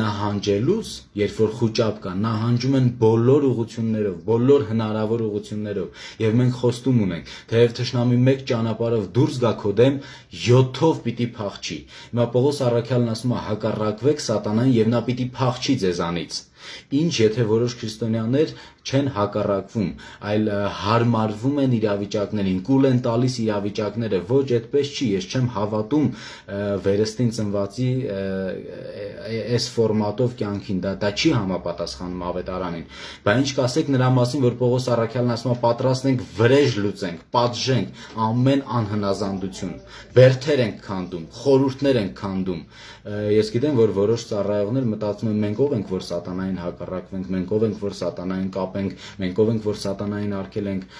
նահանջելուց երբ որ խուճապ կա նահանջում են բոլոր ուղություններով բոլոր հնարավոր ուղություններով եւ մենք խոստում ունենք թեև թշնամի մեկ ճանապարհով դուրս գա քո դեմ 7-ով պիտի փախչի հիմա Պողոս առաքյալն ասում է հակառակվեք սատանային եւ նա պիտի փախչի ձեզանից ինչ եթե որոշ քրիստոնյաներ չեն հակառակվում այլ հարմարվում են իրավիճակներին կուլ են տալիս իրավիճակները ոչ այդպես չի ես չեմ հավատում վերստին ծնվածի այս ֆորմատով կյանքին դա չի համապատասխանում ավետարանին բայց ինչ կասեք նրա մասին որ Պողոս առաքյալն ասում է պատրաստ ենք վրեժ լուծենք պատժենք ամեն անհնազանդություն բերդեր ենք քանդում խորհուրդներ ենք քանդում ես գիտեմ որ որոշ ծառայողներ մտածում են մենք ով ենք որ սատանային հակառակվենք մենք ով ենք որ սատանային կապենք մենք ով ենք որ սատանային արգելենք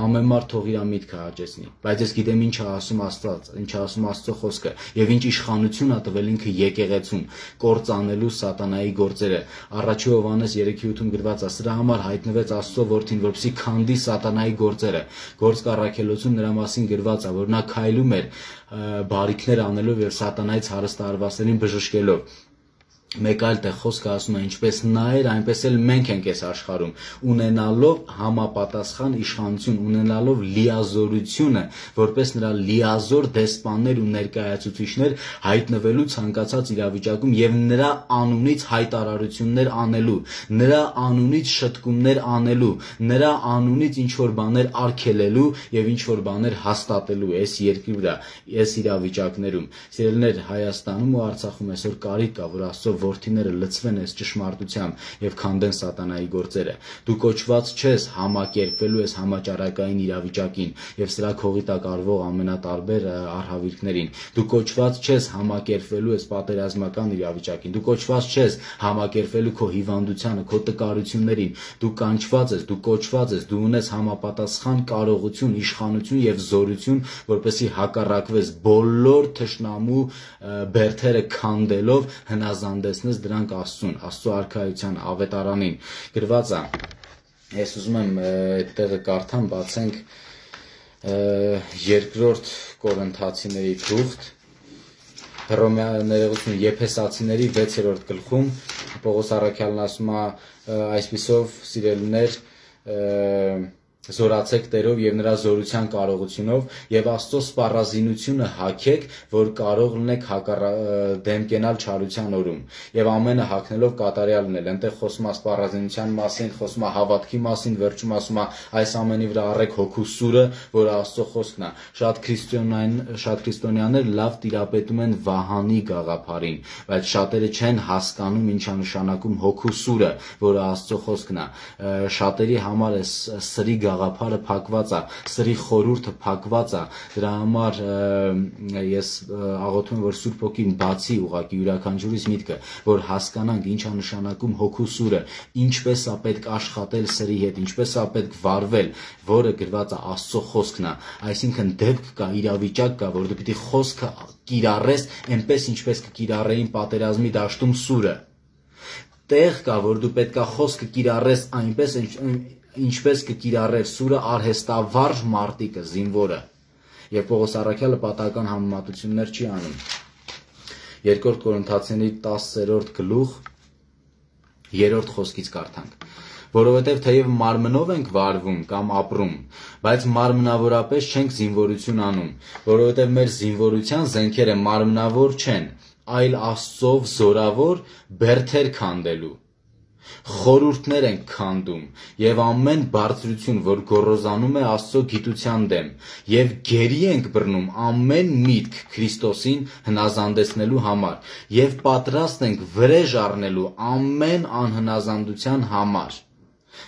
ամեն մարդ թող իր միտքը հաճեցնի բայց ես գիտեմ ինչ է ասում Աստված ինչ է ասում Աստծո խոսքը եւ ինչ իշխանություն է տվել ինքը եկեղեցուն կործանելու սատանայի գործերը առաջի Հովհաննես 3:8-ում գրված է սրա համար հայտնվեց Աստծո որդին որպեսզի քանդի սատանայի գործերը գործք առաքելոցում նրա մասին գրված է որ նա քայլում էր բարիքներ անելով եւ սատանայից հարստահարվածներին բժշկելով մեկ այլ տեղ խոսքը ասում է ինչպես նա էր այնպես էլ մենք ենք այս աշխարհում ունենալով համապատասխան իշխանություն ունենալով լիազորությունը որպես նրա լիազոր դեսպաններ ու ներկայացուցիչներ հայտնվելու ցանկացած իրավիճակում եւ նրա անունից հայտարարություններ անելու նրա անունից շտկումներ անելու նրա անունից ինչ որ բաներ արգելելու եւ ինչ որ բաներ հաստատելու այս երկրի վրա այս իրավիճակներում սիրելիներ Հայաստանում ու Արցախում այսօր կարիք կա որ Աստծո որդիները լցվեն այս ճշմարտությամբ եւ քանդեն սատանայի գործերը դու կոչված չես համակերպվելու այս համաճարակային իրավիճակին եւ սրա քողի տակ արվող ամենատարբեր արհավիրքներին դու կոչված չես համակերպվելու այս պատերազմական իրավիճակին դու կոչված չես համակերպվելու քո հիվանդությանը քո տկարություններին դու կանչված ես դու կոչված ես դու ունես համապատասխան կարողություն իշխանություն եւ զորություն որպեսզի հակառակվես բոլոր թշնամու բերդերը քանդելով հնազանդես դրանք Աստծուն, Աստծո արքայության ավետարանին գրված է ես ուզում եմ այդ տեղը կարդամ բացենք երկրորդ Կորինթացիների թուղթ Հռոմեացիների Եփեսացիների 6-րդ գլխում Պողոս առաքյալն ասում է այսպիսով սիրելիներ Զորացեք Տերով եւ նրա զորության կարողությունով եւ Աստծո սպառազինությունը հագեք, որ կարող լինեք դեմ կենալ չարության օրում եւ ամենը հագնելով կատարյալ լինել։ Այնտեղ խոսում է սպառազինության մասին, խոսում է հավատքի մասին, վերջում ասում է այս ամենի վրա առեք հոգու սուրը, որը Աստծո խոսքն է։ Շատ քրիստոնյաներ լավ տիրապետում են Վահանի գաղափարին, բայց շատերը չեն հասկանում ինչ է նշանակում հոգու սուրը, որը Աստծո խոսքն է։ Շատերի համար է սրի գաղափարը փակված է, սրի խորհուրդը փակված է, դրա համար ես աղոթում եմ, որ Սուրբ Հոգին բացի ուղղակի յուրաքանչյուրիս միտքը, որ հասկանանք ինչ է նշանակում հոգու սուրը, ինչպես է պետք աշխատել սրի հետ, ինչպես է պետք վարվել, որը գրված է Աստծո խոսքն է, այսինքն դեպք կա, իրավիճակ կա, որ դու պիտի խոսքը կիրառես, այնպես ինչպես կկիրառեին պատերազմի դաշտում սուրը։ Տեղ կա, որ դու պետքա խոսքը կիրառես այնպես ինչպես կկիրառեր սուրը արհեստավարժ մարտիկը, զինվորը։ Եվ Պողոս առաքյալը պատահական համեմատություններ չի անում։ 2 Կորինթացիների 10-րդ գլուխ 3-րդ խոսքից կարդանք։ Որովհետև թեև մարմնով ենք վարվում կամ ապրում, բայց մարմնավորապես չենք զինվորություն անում, որովհետև մեր զինվորության զենքերը մարմնավոր չեն, այլ Աստծով զորավոր բերդեր քանդելու։ Խորհուրդներ ենք քանդում եւ ամեն բարձրություն, որ գոռոզանում է Աստծո գիտության դեմ, եւ գերի ենք բռնում ամեն միտք Քրիստոսին հնազանդեցնելու համար եւ պատրաստ ենք վրեժ առնելու ամեն անհնազանդության համար։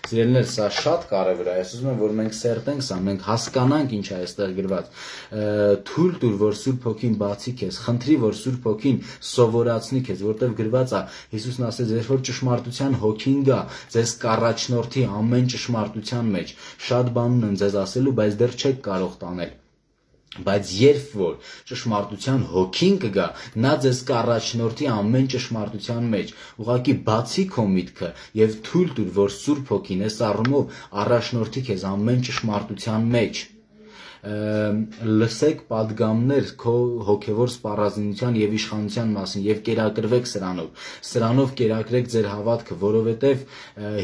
Սիրելիներ, սա շատ կարևոր է, ես ուզում եմ, որ մենք սերտենք սա, մենք հասկանանք ինչ է այստեղ գրված։ Թույլ տուր, որ Սուրբ Հոգին բացի քեզ, խնդրի, որ Սուրբ Հոգին սովորացնի քեզ, որտեղ գրված է, Հիսուսն ասեց, երբ որ ճշմարտության Հոգին գա, ձեզ կառաջնորդի ամեն ճշմարտության մեջ։ Շատ բան ունեմ ձեզ ասելու, բայց դեռ չեք կարող տանել։ Բայց երբ որ ճշմարտության Հոգին կգա, նա ձեզ կառաջնորդի ամեն ճշմարտության մեջ, ուղղակի բացի քո միտքը եւ թույլ տուր, որ Սուրբ Հոգին այս առումով առաջնորդի քեզ ամեն ճշմարտության մեջ։ Լսեք պատգամներ քո հոգևոր սպառազինության եւ իշխանության մասին եւ կերակրվեք սրանով կերակրեք ձեր հավատքը, որովհետեւ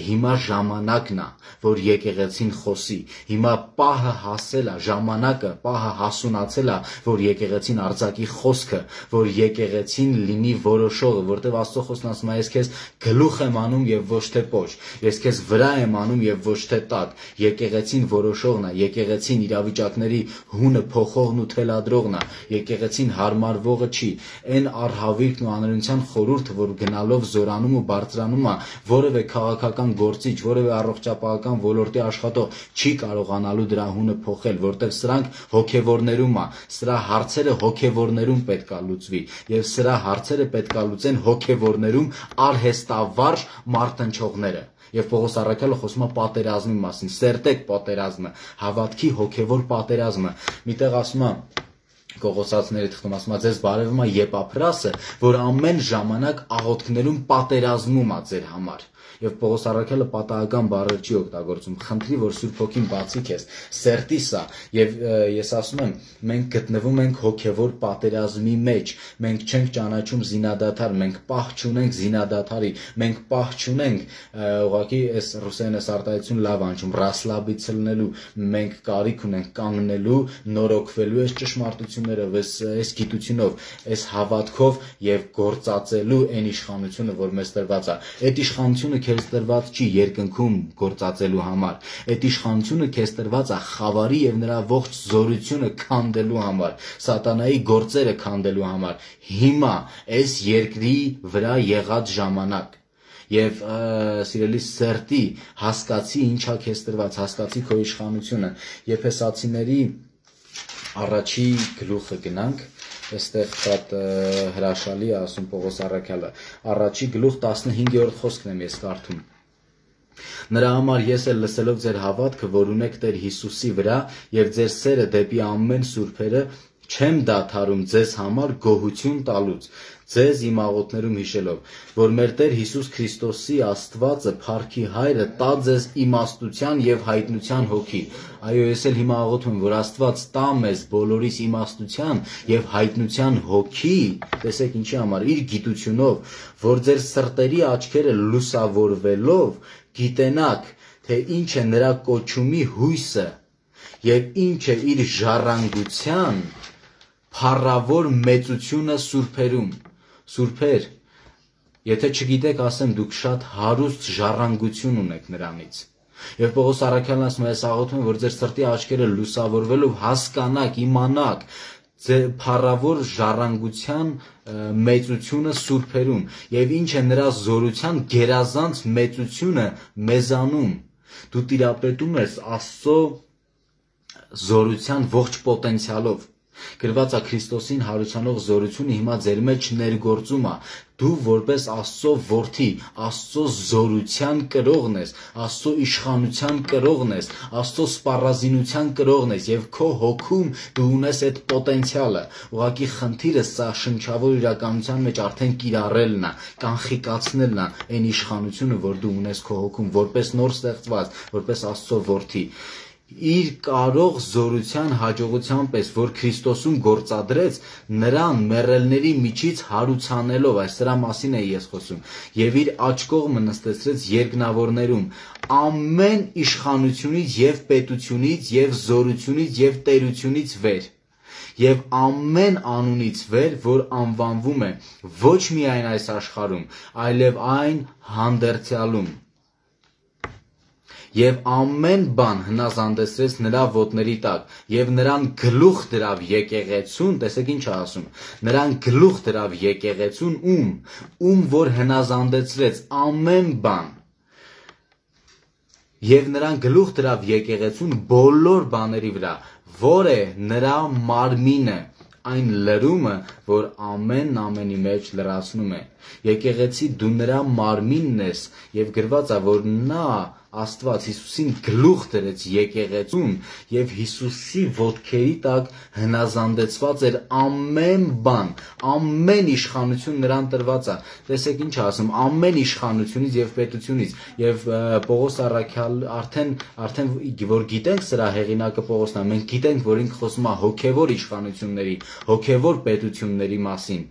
հիմա ժամանակն է, որ եկեղեցին խոսի, հիմա պահը հասել է, ժամանակը պահը հասունացել է, որ եկեղեցին արձակի խոսքը, որ եկեղեցին լինի որոշողը, որտեւ Աստծո խոսքն ասում է, ես քեզ գլուխ եմ անում եւ ոչ թե պոչ, ես քեզ վրա եմ անում եւ ոչ թե տակ, եկեղեցին որոշողն է, եկեղեցին իրավիճակներ հունը փոխողն ու թելադրողն է, եկեղեցին հարմարվողը չի, այն առհավիրքն ու անօրինության խորհուրդը, որ գնալով զորանում ու բարձրանում է, որևէ քաղաքական գործիչ, որևէ առողջապահական ոլորտի աշխատող չի կարողանալու դրա հունը փոխել, որտեղ սրանք հոգևորներում է, սրա հարցերը հոգևորներում պետք է լուծվի, եւ սրա հարցերը պետք է լուծեն հոգևորներում արհեստավարժ մարտնչողները։ Եվ Պողոս առաքյալը խոսում է պատերազմի մասին, սերտեք պատերազմը, հավատքի հոգևոր պատերազմը։ Միտեղ ասում է Կողոսացիների թղթում ասում է, ձեզ բարևում է Եփափրասը, որ ամեն ժամանակ աղոթքներում պատերազմում է ձեր համար։ Եվ Պողոս առաքյալը պատահական բառեր չի օգտագործում, խնդրի, որ Սուրբ Հոգին բացի քեզ, սերտի սա, եւ ես ասում եմ, մենք գտնվում ենք հոգևոր պատերազմի մեջ, մենք չենք ճանաչում զինադադար, մենք պահ չունենք զինադադարի, մենք պահ չունենք, ուղղակի այս ռուսերեն այս արտահայտություն լավ անջում, ռասլաբիցը լինելու, մենք կարիք ունենք կանգնելու, նորոգվելու այս ճշմարտություններով, այս գիտությունով, այս հավատքով եւ գործածելու այն իշխանությունը, որ մեզ տրված է։ Այդ իշխանությունը քեզ տրված չի երկնքում գործածելու համար, այդ իշխանությունը քեզ տրված է խավարի եւ նրա ողջ զորությունը քանդելու համար, սատանայի գործերը քանդելու համար, հիմա այս երկրի վրա եղած ժամանակ։ Եվ սիրելի սերտի, հասկացի ինչա քեզ տրված, հասկացի քո իշխանությունը։ Եփեսացիների առաջի գլուխը գնանք, այստեղ շատ հրաշալի է ասում Պողոս առաքյալը, առաջի գլուխ 15-րդ խոսքն եմ ես կարդում։ Նրա համար ես էլ լսելով ձեր հավատքը, որ ունեք Տեր Հիսուսի վրա եւ ձեր սերը դեպի ամեն սուրբերը, չեմ դադարում ձեզ համար գոհություն տալուց, ձեզ իմ աղոթներում հիշելով, որ մեր Տեր Հիսուս Քրիստոսի Աստվածը, Փառքի Հայրը, տա ձեզ իմաստության եւ հայտնության հոգի։ Այո, ես էլ հիմա աղոթում եմ, որ Աստված տա մեզ բոլորիս իմաստության եւ հայտնության հոգի, տեսեք ինչի համար, իր գիտությունով, որ ձեր սրտերի աչքերը լուսավորվելով գիտենաք թե ինչ է նրա կոչումի հույսը եւ ինչ է իր ժառանգության փառավոր մեծությունը սուրբերում։ Սուրբեր, եթե չգիտեք, ասեմ, դուք շատ հարուստ ժառանգություն ունեք նրանից։ Եվ Պողոս առաքյալն ասում է, ես աղոթում եմ, որ ձեր սրտի աչքերը լուսավորվելով հասկանաք, իմանաք ձեր փառավոր ժառանգության մեծությունը սուրբերում եւ ինչ է նրա զորության գերազանց մեծությունը մեզանում։ Դու տիրապետում ես Աստծո զորության ողջ պոտենցիալով։ Գրված է Քրիստոսին հարուցանող զորությունը հիմա ձեր մեջ ներգործում է։ Դու որպես Աստծո որդի, Աստծո զորության կրողն ես, Աստծո իշխանության կրողն ես, Աստծո սպառազինության կրողն ես եւ քո հոգում դու ունես այդ պոտենցիալը։ Ուղղակի խնդիրը սա շնչավոր իրականության մեջ արդեն կիրառելն է, կանխիկացնելն է այն իշխանությունը, որ դու ունես քո հոգում, որպես նոր ստեղծված, որպես Աստծո որդի։ Իր կարող զորության հաջողության պես, որ Քրիստոսում գործադրեց, նրան մեռելների միջից հարուցանելով, այս դրա մասին է ես խոսում, եւ իր աջ կողմը նստեցրեց երկնավորներում, ամեն իշխանությունից եւ պետությունից եւ զորությունից եւ տերությունից վեր, եւ ամեն անունից վեր, որ անվանվում է ոչ միայն այս աշխարհում, այլև այն հանդերձյալում։ Եվ ամեն բան հնազանդեցրեց նրա ոտների տակ, եւ նրան գլուխ դրավ եկեղեցուն, տեսեք ինչ է ասում, նրան գլուխ դրավ եկեղեցուն ում որ հնազանդեցրեց ամեն բան, եւ նրան գլուխ դրավ եկեղեցուն բոլոր բաների վրա, որ է նրա մարմինը, այն լրումը, որ ամենի մեջ լրացնում է։ Եկեղեցի դու նրա մարմինն ես, եւ գրված է, որ նա Աստված Հիսուսին գլուխ դրեց եկեղեցուն եւ Հիսուսի ոտքերի տակ հնազանդեցված էր ամեն բան, ամեն իշխանություն նրան տրված է։ Տեսեք ինչ ասում, ամեն իշխանությունից եւ պետությունից եւ Պողոս առաքյալ արդեն որ գիտենք սրա հեղինակը Պողոսն է, մենք գիտենք, որ ինքը խոսում է հոգեվոր իշխանությունների, հոգեվոր պետությունների մասին։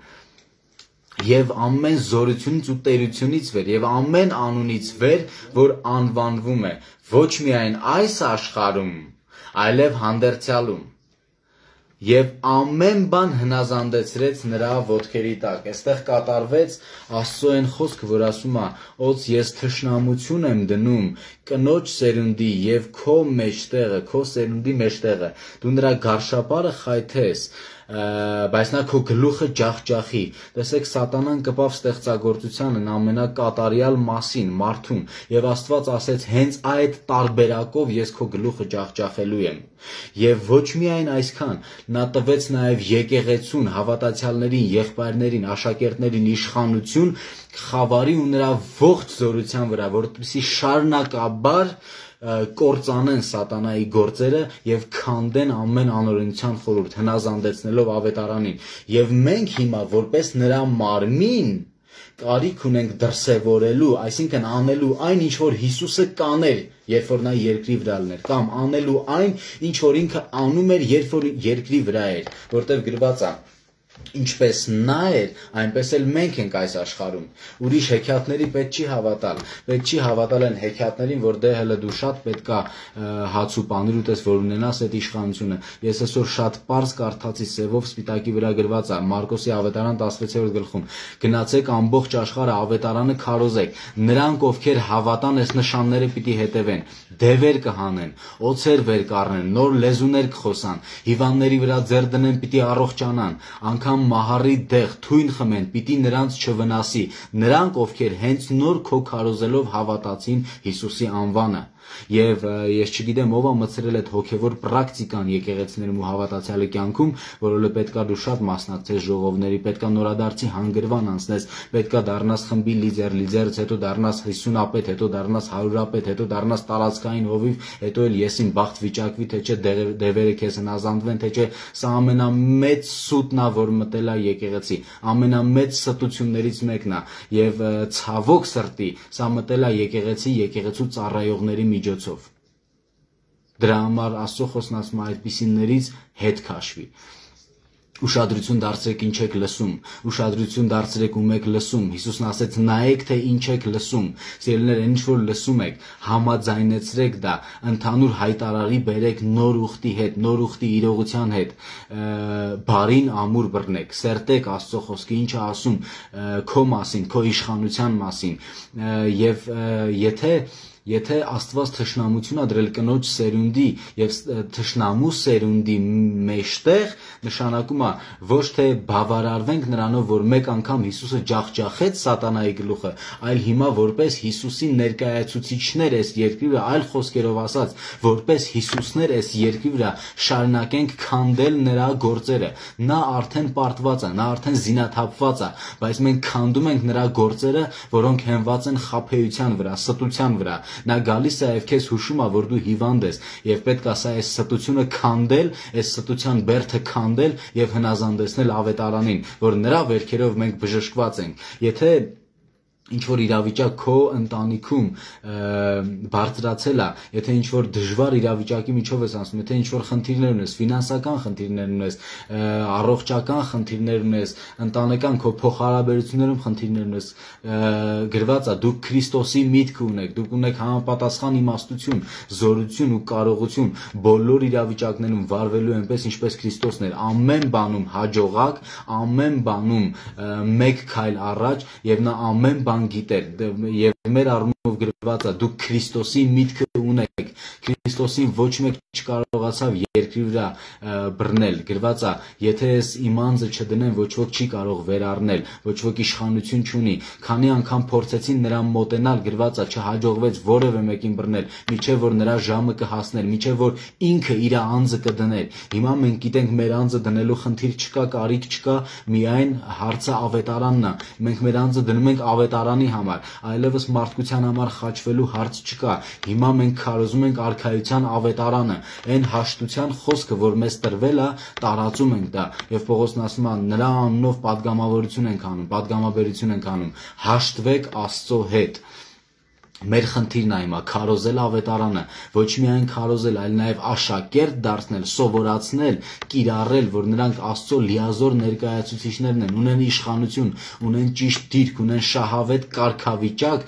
Եվ ամեն զորությունից ու տերությունից վեր, եւ ամեն անունից վեր, որ անվանվում է ոչ միայն այս աշխարհում, այլև հանդերձյալում։ Եվ ամեն բան հնազանդեցրեց նրա ոտքերի տակ։ Այստեղ կատարվեց Աստծո այն խոսքը, որ ասում է. «Ոնց ես թշնամություն եմ դնում կնոջ սերունդի եւ քո մեջտեղը, քո սերունդի մեջտեղը, դու նրա գարշապարը խայթես, բայց նա քո գլուխը ջախջախի»։ Տեսեք, սատանան կպավ ստեղծագործությանն ամենակատարյալ մասին, մարդուն, եւ Աստված ասեց, հենց այդ տարբերակով ես քո գլուխը ջախջախելու եմ։ Եվ ոչ միայն այսքան, նա տվեց նաեւ եկեղեցուն, հավատացյալներին, եղբայրներին, աշակերտներին իշխանություն խավարի ու նրա ողջ զորության վրա, որպեսզի շարունակաբար կործանեն սատանայի գործերը եւ քանդեն ամեն անօրենության խորհուրդ, հնազանդեցնելով ավետարանին։ Եվ մենք հիմա որպես նրա մարմին կարիք ունենք դրսևորելու, այսինքն անելու այն, ինչ որ Հիսուսը կաներ, երբ որ նա երկրի վրա լիներ, կամ անելու այն, ինչ որ ինքը անում էր, երբ որ երկրի վրա էր, որտեղ գրված է. ինչպես նա էր, այնպես էլ մենք ենք այս աշխարհում։ Ուրիշ հեքիաթների պետք չի հավատալ։ Պետք չի հավատալ այն հեքիաթներին, որ դե հələ դու շատ պետքա հաց ու պանիր ուտես, որ ունենաս այդ իշխանությունը։ Ես այսօր շատ པարզ կարդացի սևով սպիտակի վրա գրված է Մարկոսի ավետարան 16-րդ գլխում. գնացեք ամբողջ աշխարհը ավետարանը քարոզեք։ Նրանք, ովքեր հավատան, այս նշանները պիտի հետևեն։ Դևեր կհանեն, օձեր վեր կառնեն, նոր լեզուներ կխոսան, հիվանդների վրա ձեռ դնեն, պիտի առողջանան, անգամ մահարի դեղ թույն խմեն, պիտի նրանց չվնասի, նրանք, ովքեր հենց նոր քո քարոզելով հավատացին Հիսուսի անվանը։ Եվ ես չգիտեմ ով է մտցրել այդ հոգևոր պրակտիկան եկեղեցիներում ու հավատացյալի կյանքում, որովհետև պետքա դու շատ մասնակցես ժողովների, պետքա նորադարձի հանգրվան անցնես, պետքա դառնաս խմբի լիդերից հետո դառնաս 50-ապետ, հետո դառնաս 100-ապետ, հետո դառնաս տարածքային հովիվ, հետո էլ եսին բախտ վիճակվի, թե չէ դևերը քեզ հնազանդվեն, թե չէ։ Սա ամենամեծ սուտն է, որ մտել է եկեղեցի, ամենամեծ ստություններից մեկն է, եւ ցավոք սրտի սա մտել է եկեղեցի, եկեղեցու ծառայողների միջոցով։ Դրա համար Աստծո խոսքն ասում է այդպիսիներից հետ քաշվի։ Ուշադրություն դարձրեք ինչ եք լսում, ուշադրություն դարձրեք ում եք լսում։ Հիսուսն ասեց նայեք թե ինչ եք լսում։ Սիրելիներ, ինչ որ լսում եք, համաձայնեցրեք դա, ընդհանուր հայտարարի բերեք նոր ուխտի հետ, նոր ուխտի իրողության հետ, բարին ամուր բռնեք, սերտեք Աստծո խոսքը, ինչը ասում քո մասին, քո իշխանության մասին, եւ Եթե Աստված թշնամություն ա դրել կնոջ սերունդի եւ թշնամու սերունդի մեջտեղ, նշանակում է ոչ թե բավարարվենք նրանով, որ մեկ անգամ Հիսուսը ջախջախեց սատանայի գլուխը, այլ հիմա որպես Հիսուսի ներկայացուցիչներ այս երկրի վրա, այլ խոսքերով ասած, որպես Հիսուսներ այս երկրի վրա շարունակենք քանդել նրա գործերը։ Նա արդեն պարտված է, նա արդեն զինաթափված է, բայց մենք քանդում ենք նրա գործերը, որոնք հենված են խաբեության վրա, ստության վրա։ Նա գալիս է եւ քեզ հուշում է, որ դու հիվանդ ես եւ պետք է սա այս ստությունը քանդել, այս ստության բերդը քանդել եւ հնազանդեցնել ավետարանին, որ նրա վերքերով մենք բժշկված ենք։ Եթե ինչ որ իրավիճակ քո ընտանիքում բարձրացել է, եթե ինչ որ դժվար իրավիճակի միջով ես անցնում, եթե ինչ որ խնդիրներ ունես, ֆինանսական խնդիրներ ունես, առողջական խնդիրներ ունես, ընտանեկան քո փոխհարաբերություններում խնդիրներ ունես, գրված է դուք Քրիստոսի միտք ունեք, դուք ունեք համապատասխան իմաստություն, զորություն ու կարողություն բոլոր իրավիճակներում վարվելու այնպես ինչպես Քրիստոսն էր, ամեն բանում հաջողակ, ամեն բանում մեկ քայլ առաջ եւ նա ամեն բան գիտեր եւ մեր առումով գրված է դուք Քրիստոսի միտքը ունեք, Քրիստոսին ոչ մեկ չկարողացավ երկրի վրա բռնել, գրված է եթե ես իմ անձը չդնեմ ոչ ոք չի կարող վերառնել, ոչ ոք իշխանություն չունի, քանի անգամ փորձեցին նրան մոտենալ, գրված է չհաջողվեց որևէ մեկին բռնել, միջև որ նրա ժամը կհասներ, միջև որ ինքը իր անձը կդներ։ Հիմա մենք գիտենք մեր անձը դնելու խնդիր չկա, կարիք չկա, միայն հարցը ավետարանն է։ Մենք մեր անձը դնում ենք ավետարանի համար, այլևս մարդկության համար խաչվելու հարց չկա։ Հիմա մենք քարոզում ենք արքայության ավետարանը, այն հաշտության խոսքը, որ մեզ տրվել է, տարածում ենք դա։ Եվ Պողոսն ասում է նրա անունով պատգամավորություն ենք անում, պատգամաբերություն ենք անում, հաշտվեք Աստծո հետ։ Մեր խնդիրն է հիմա քարոզել ավետարանը, ոչ միայն քարոզել, այլ նաև աշակերտ դարձնել, սովորացնել, կիրառել, որ նրանք Աստծո լիազոր ներկայացուցիչներն են, ունեն իշխանություն, ունեն ճիշտ դիրք, ունեն շահավետ կարգավիճակ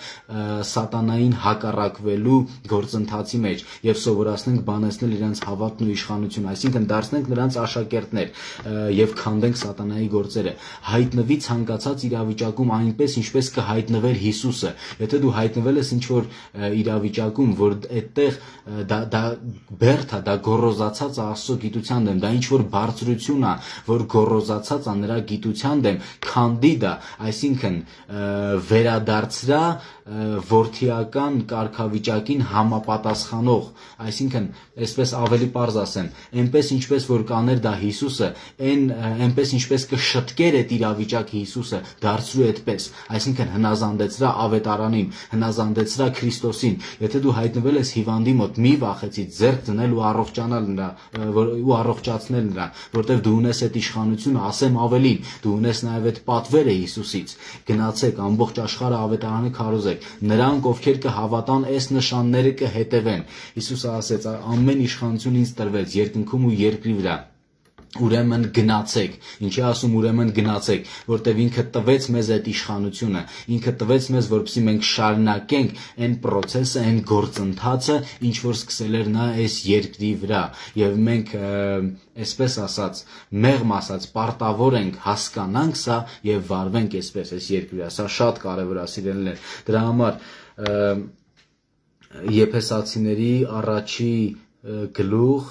սատանային հակառակվելու գործընթացի մեջ եւ սովորացնենք բանեցնել իրենց հավատն ու իշխանությունը, այսինքն դարձնենք նրանց աշակերտներ եւ քանդենք սատանայի գործերը։ Հայտնվի ցանկացած իրավիճակում այնպես ինչպես կհայտնվեր Հիսուսը։ Եթե դու հայտնվել ես ինչ-որ իրավիճակում, որ այդտեղ դա բերդ է, դա գոռոզացած է Աստծո գիտության դեմ, դա ինչ-որ բարձրություն է, որ գոռոզացած է նրա գիտության դեմ, քանդի դա, այսինքն վերադարձրա որդիական կարգավիճակին համապատասխանող, այսինքն այսպես ավելի պարզ ասեմ, այնպես ինչպես որ կաներ դա Հիսուսը, այնպես ինչպես կշտկեր այդ իրավիճակը Հիսուսը, դարձրու այդպես, այսինքն հնազանդեցրա ավետարանին, հնազանդեցրա Քրիստոսին։ Եթե դու հայտնվել ես հիվանդի մոտ, մի վախեցի ձեռք դնել ու առողջանալ նրա, ու առողջացնել նրան, որտեղ դու ունես այդ իշխանությունը, ասեմ ավելին, դու ունես նաև այդ պատվերը Հիսուսից։ Գնացեք ամբողջ աշխարհը ավետարանը քարոզեք, նրանք ովքեր կհավատան այս նշանները կհետևեն։ Հիսուսը ասեց ամեն իշխանություն ինձ տրվեց երկնքում ու երկրի վրա։ Ուրեմն գնացեք, ինչի ասում ուրեմն գնացեք, որտեվ ինքը տվեց մեզ այդ իշխանությունը, ինքը տվեց մեզ, որպեսզի մենք շարունակենք այն process-ը, այն գործընթացը, ինչ որ սկսել էր նա այս երկրի վրա, եւ մենք այսպես ասած, մեղմ ասած, պարտավոր ենք հասկանանք սա եւ վարվենք այսպես այս երկրի վրա։ Սա շատ կարեւոր է, սիրելիներ։ Դրա համար Եփեսացիների առաջի գլուխ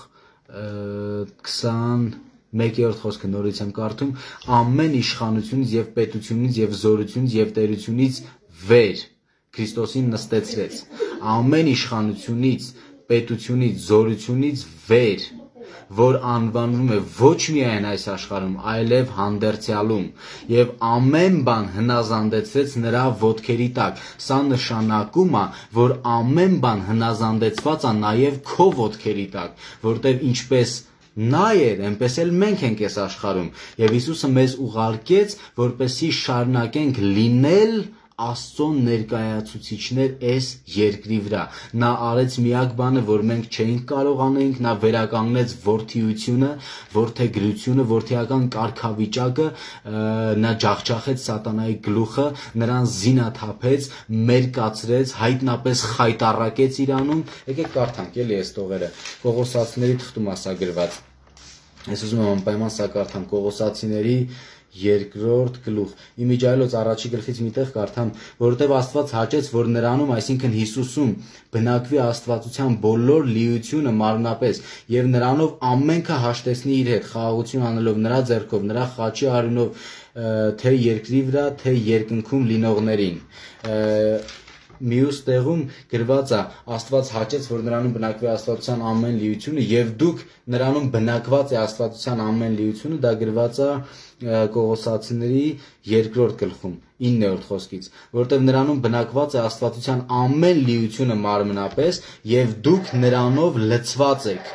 21-րդ խոսքը նորից եմ կարդում, ամեն իշխանությունից եւ պետությունից եւ զորությունից եւ տերությունից վեր Քրիստոսին նստեցրեց։ Ամեն իշխանությունից, պետությունից, զորությունից վեր, որ անվանում է ոչ միայն այս աշխարհում, այլև հանդերձյալում, եւ ամեն բան հնազանդեցրեց նրա ոտքերի տակ։ Սա նշանակում է, որ ամեն բան հնազանդեցված է նաեւ քո ոտքերի տակ, որտեղ ինչպես նա էր, այնպես էլ մենք ենք այս աշխարհում, եւ Հիսուսը մեզ ուղարկեց, որպեսզի շարունակենք լինել Աստծո ներկայացուցիչներ այս երկրի վրա։ Նա արեց միակ բանը, որ մենք չէինք կարող անենք, նա վերականգնեց որդիությունը, որդեգրությունը, որդիական կարգավիճակը, նա ջախջախեց սատանայի գլուխը, նրան զինաթափեց, մերկացրեց, հայտնապես խայտառակեց իրանում։ Եկեք կարդանք էլի այս տողերը։ Կողոսացիների թղթում ասա գրված։ Ես ուզում եմ անպայման սա կարդամ Կողոսացիների 2-րդ գլուխ։ Իմիջայլոց առաջի գլխից մի տեղ կարդամ, որովհետև Աստված հաճեց, որ նրանում, այսինքն Հիսուսում, բնակվի աստվածության բոլոր լիությունը մարմնապես եւ նրանով ամենքը հաշտեցնի իր հետ, խաղաղություն անելով նրա ձեռքով, նրա խաչի արյունով, թե երկրի վրա, թե երկնքում լինողներին։ Մյուս տեղում գրված է Աստված հաճեց, որ նրանում բնակվի աստվածության ամեն լիությունը եւ դուք նրանում բնակված է աստվածության ամեն լիությունը, դա գրված է Կողոսացիների 2-րդ գլխում 9-րդ խոսքից, որտեղ նրանում բնակված է աստվածության ամեն լիությունը մարմնապես եւ դուք նրանով լցված եք։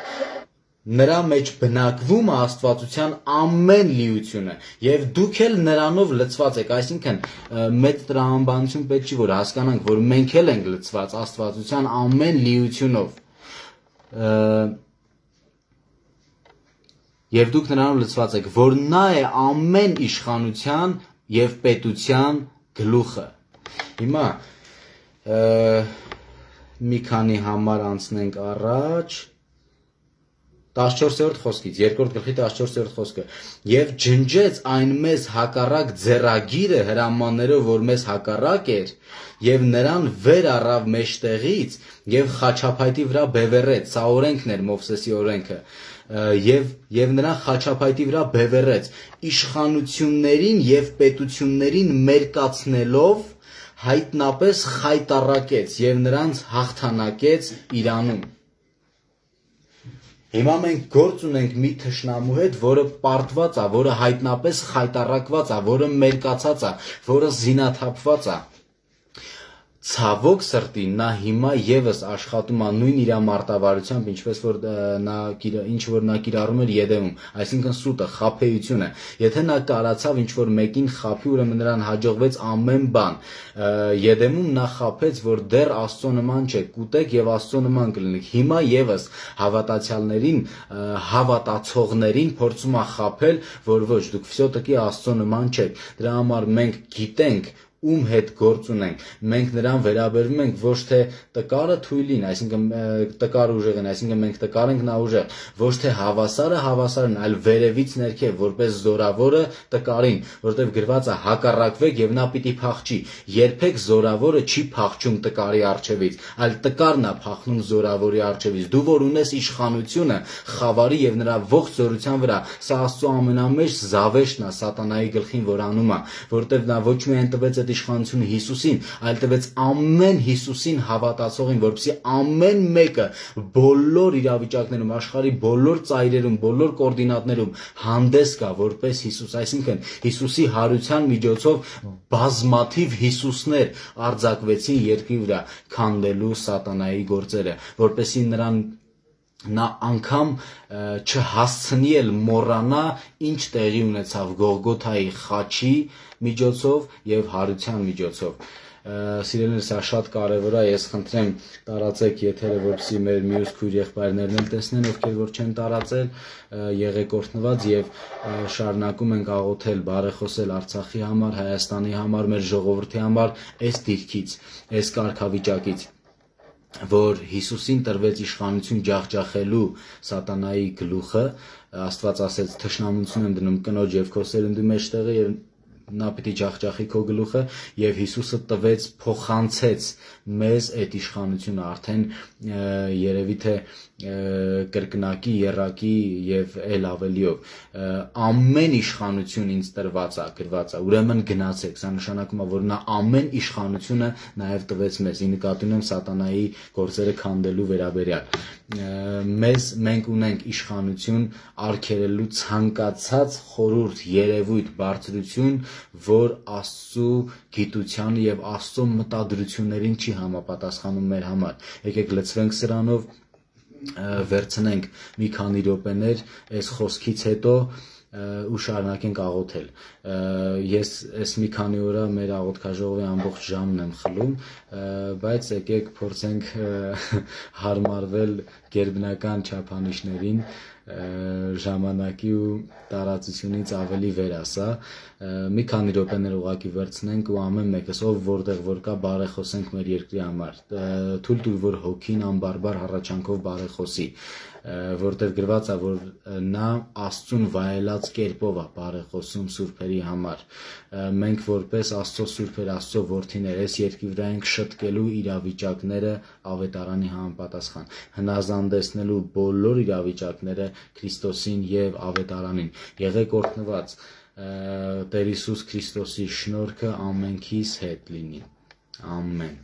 Նրա մեջ բնակվում է աստվածության ամեն լիությունը եւ դուք էլ նրանով լցված եք, այսինքն մեծ տրամաբանություն պետք չի որ հասկանանք, որ մենք էլ ենք լցված աստվածության ամեն լիությունով եւ դուք նրանով լցված եք, որ նա է ամեն իշխանության եւ պետության գլուխը։ Հիմա մի քանի համար անցնենք առաջ 14-րդ խոսքից, 2-րդ գլխի 14-րդ խոսքը։ Եվ ջնջեց այն մեզ հակառակ ձեռագիրը հրամաններով, որ մեզ հակառակ էր, եւ նրան վեր առավ մեջտեղից եւ խաչափայտի վրա բևեռեց, սա օրենքն էր Մովսեսի օրենքը, եւ նրան խաչափայտի վրա բևեռեց, իշխանություններին եւ պետություններին մերկացնելով հայտնապես խայտառակեց եւ նրանց հաղթանակեց իրանում։ Հիմա մենք գործ ունենք մի թշնամու հետ, որը պարտված է, որը հայտնապես խայտառակված է, որը մերկացած է, որը զինաթափված է։ Ցավոք սրտի նա հիմա եւս աշխատում է նույն իր մարտավարությամբ, ինչպես որ նա կիրառում էր Եդեմում, այսինքն սուտը, խաբեությունը։ Եթե նա կարացավ ինչ որ մեկին խաբի, ուրեմն նրան հաջողվեց ամեն բան։ Եդեմում նա խաբեց, որ դեռ Աստծո նման չէ, կուտեք եւ Աստծո նման կլինեք։ Հիմա եւս հավատացյալներին, հավատացողներին փորձում է խաբել, որ ոչ, դուք վсё-таки Աստծո նման չեք։ Դրա համար մենք գիտենք ում հետ գործ ունենք, մենք նրան վերաբերվում ենք ոչ թե տկարը թույլին, այսինքն տկարը ուժեղին, այսինքն մենք տկար ենք, նա ուժեղ, ոչ թե հավասարը հավասարն, այլ վերևից ներքև, որպես զորավորը տկարին, որտեղ գրված է հակառակվեք եւ նա պիտի փախչի։ Երբեք զորավորը չի փախչում տկարի առջևից, այլ տկարն է փախնում զորավորի առջևից։ Դու որ ունես իշխանությունը խավարի եւ նրա ողջ զորության վրա, սա Աստծո ամենամեծ զավեշտն է սատանայի գլխին, որ անում է, որտեղ նա ոչ միայն տվեց այդ իշխանությունը Հիսուսին, այլ տվեց ամեն Հիսուսին հավատացողին, որպեսզի ամեն մեկը բոլոր իրավիճակներում, աշխարհի բոլոր ծայրերում, բոլոր կոորդինատներում հանդես գա որպես Հիսուս, այսինքն Հիսուսի հարության միջոցով բազմաթիվ Հիսուսներ արձակվեցին երկրի վրա, քանդելու սատանայի գործերը, որպեսզի նա անգամ չհասցնի էլ մոռանա ինչ տեղի ունեցավ Գողգոթայի խաչի միջոցով եւ հարության միջոցով։ Սիրելիներ, սա շատ կարևոր է, ես խնդրեմ տարածեք եթերը, որպեսզի մեր մյուս քույր եղբայրներն էլ տեսնեն, ովքեր որ չեն տարածել, եղեք օրհնված եւ շարունակում ենք աղոթել, բարեխոսել Արցախի համար, Հայաստանի համար, մեր ժողովրդի համար, այս դիրքից, այս կարգավիճակից, որ Հիսուսին տրվեց իշխանություն ջախջախելու սատանայի գլուխը, Աստված ասեց թշնամություն եմ դնում կնոջ եւ քո սերնդի մեջտեղը եւ նա պիտի ջախջախի քո գլուխը եւ Հիսուսը տվեց, փոխանցեց մեզ այդ իշխանությունը արդեն երևի թե կրկնակի, եռակի եւ ել ավելիով ամեն իշխանություն ինձ տրված է, գրված է, ուրեմն գնացեք, սա նշանակում է, որ նա ամեն իշխանությունը նաեւ տվեց մեզ, ի նկատի ունեմ սատանայի գործերը քանդելու վերաբերյալ մենք ունենք իշխանություն արգելելու ցանկացած խորհուրդ, երևույթ, բարձրություն, որ Աստծո գիտությանը եւ Աստծո մտադրություններին չի համապատասխանում մեր համար։ Եկեք լցվենք սրանով, վերցնենք մի քանի րոպեներ այս խոսքից հետո ու շարունակենք աղոթել։ Ես այս մի քանի օր մեր աղոթքաժողովի ամբողջ ժամն եմ խլում, բայց եկեք փորձենք հարմարվել գերբնական չափանիշներին, ժամանակի ու տարածությունից ավելի վեր ասա, մի քանի րոպեներ ուղղակի վերցնենք ու ամեն մեկս ով որտեղ որ կա բարեխոսենք մեր երկրի համար, թույլ տուր որ հոգին անբարբար հառաչանքով բարեխոսի, որտեղ գրված է որ նա Աստծուն վայելած կերպով է բարեխոսում սուրբերի համար, մենք որպես Աստծո սուրբեր, Աստծո որդիներ այս երկրի վրա ենք շտկելու իրավիճակները ավետարանի համապատասխան, հնազանդեցնելու բոլոր իրավիճակները Քրիստոսին եւ ավետարանին, եղեք օրհնված, Տեր Հիսուս Քրիստոսի շնորհքը ամենքիս հետ լինի, ամեն։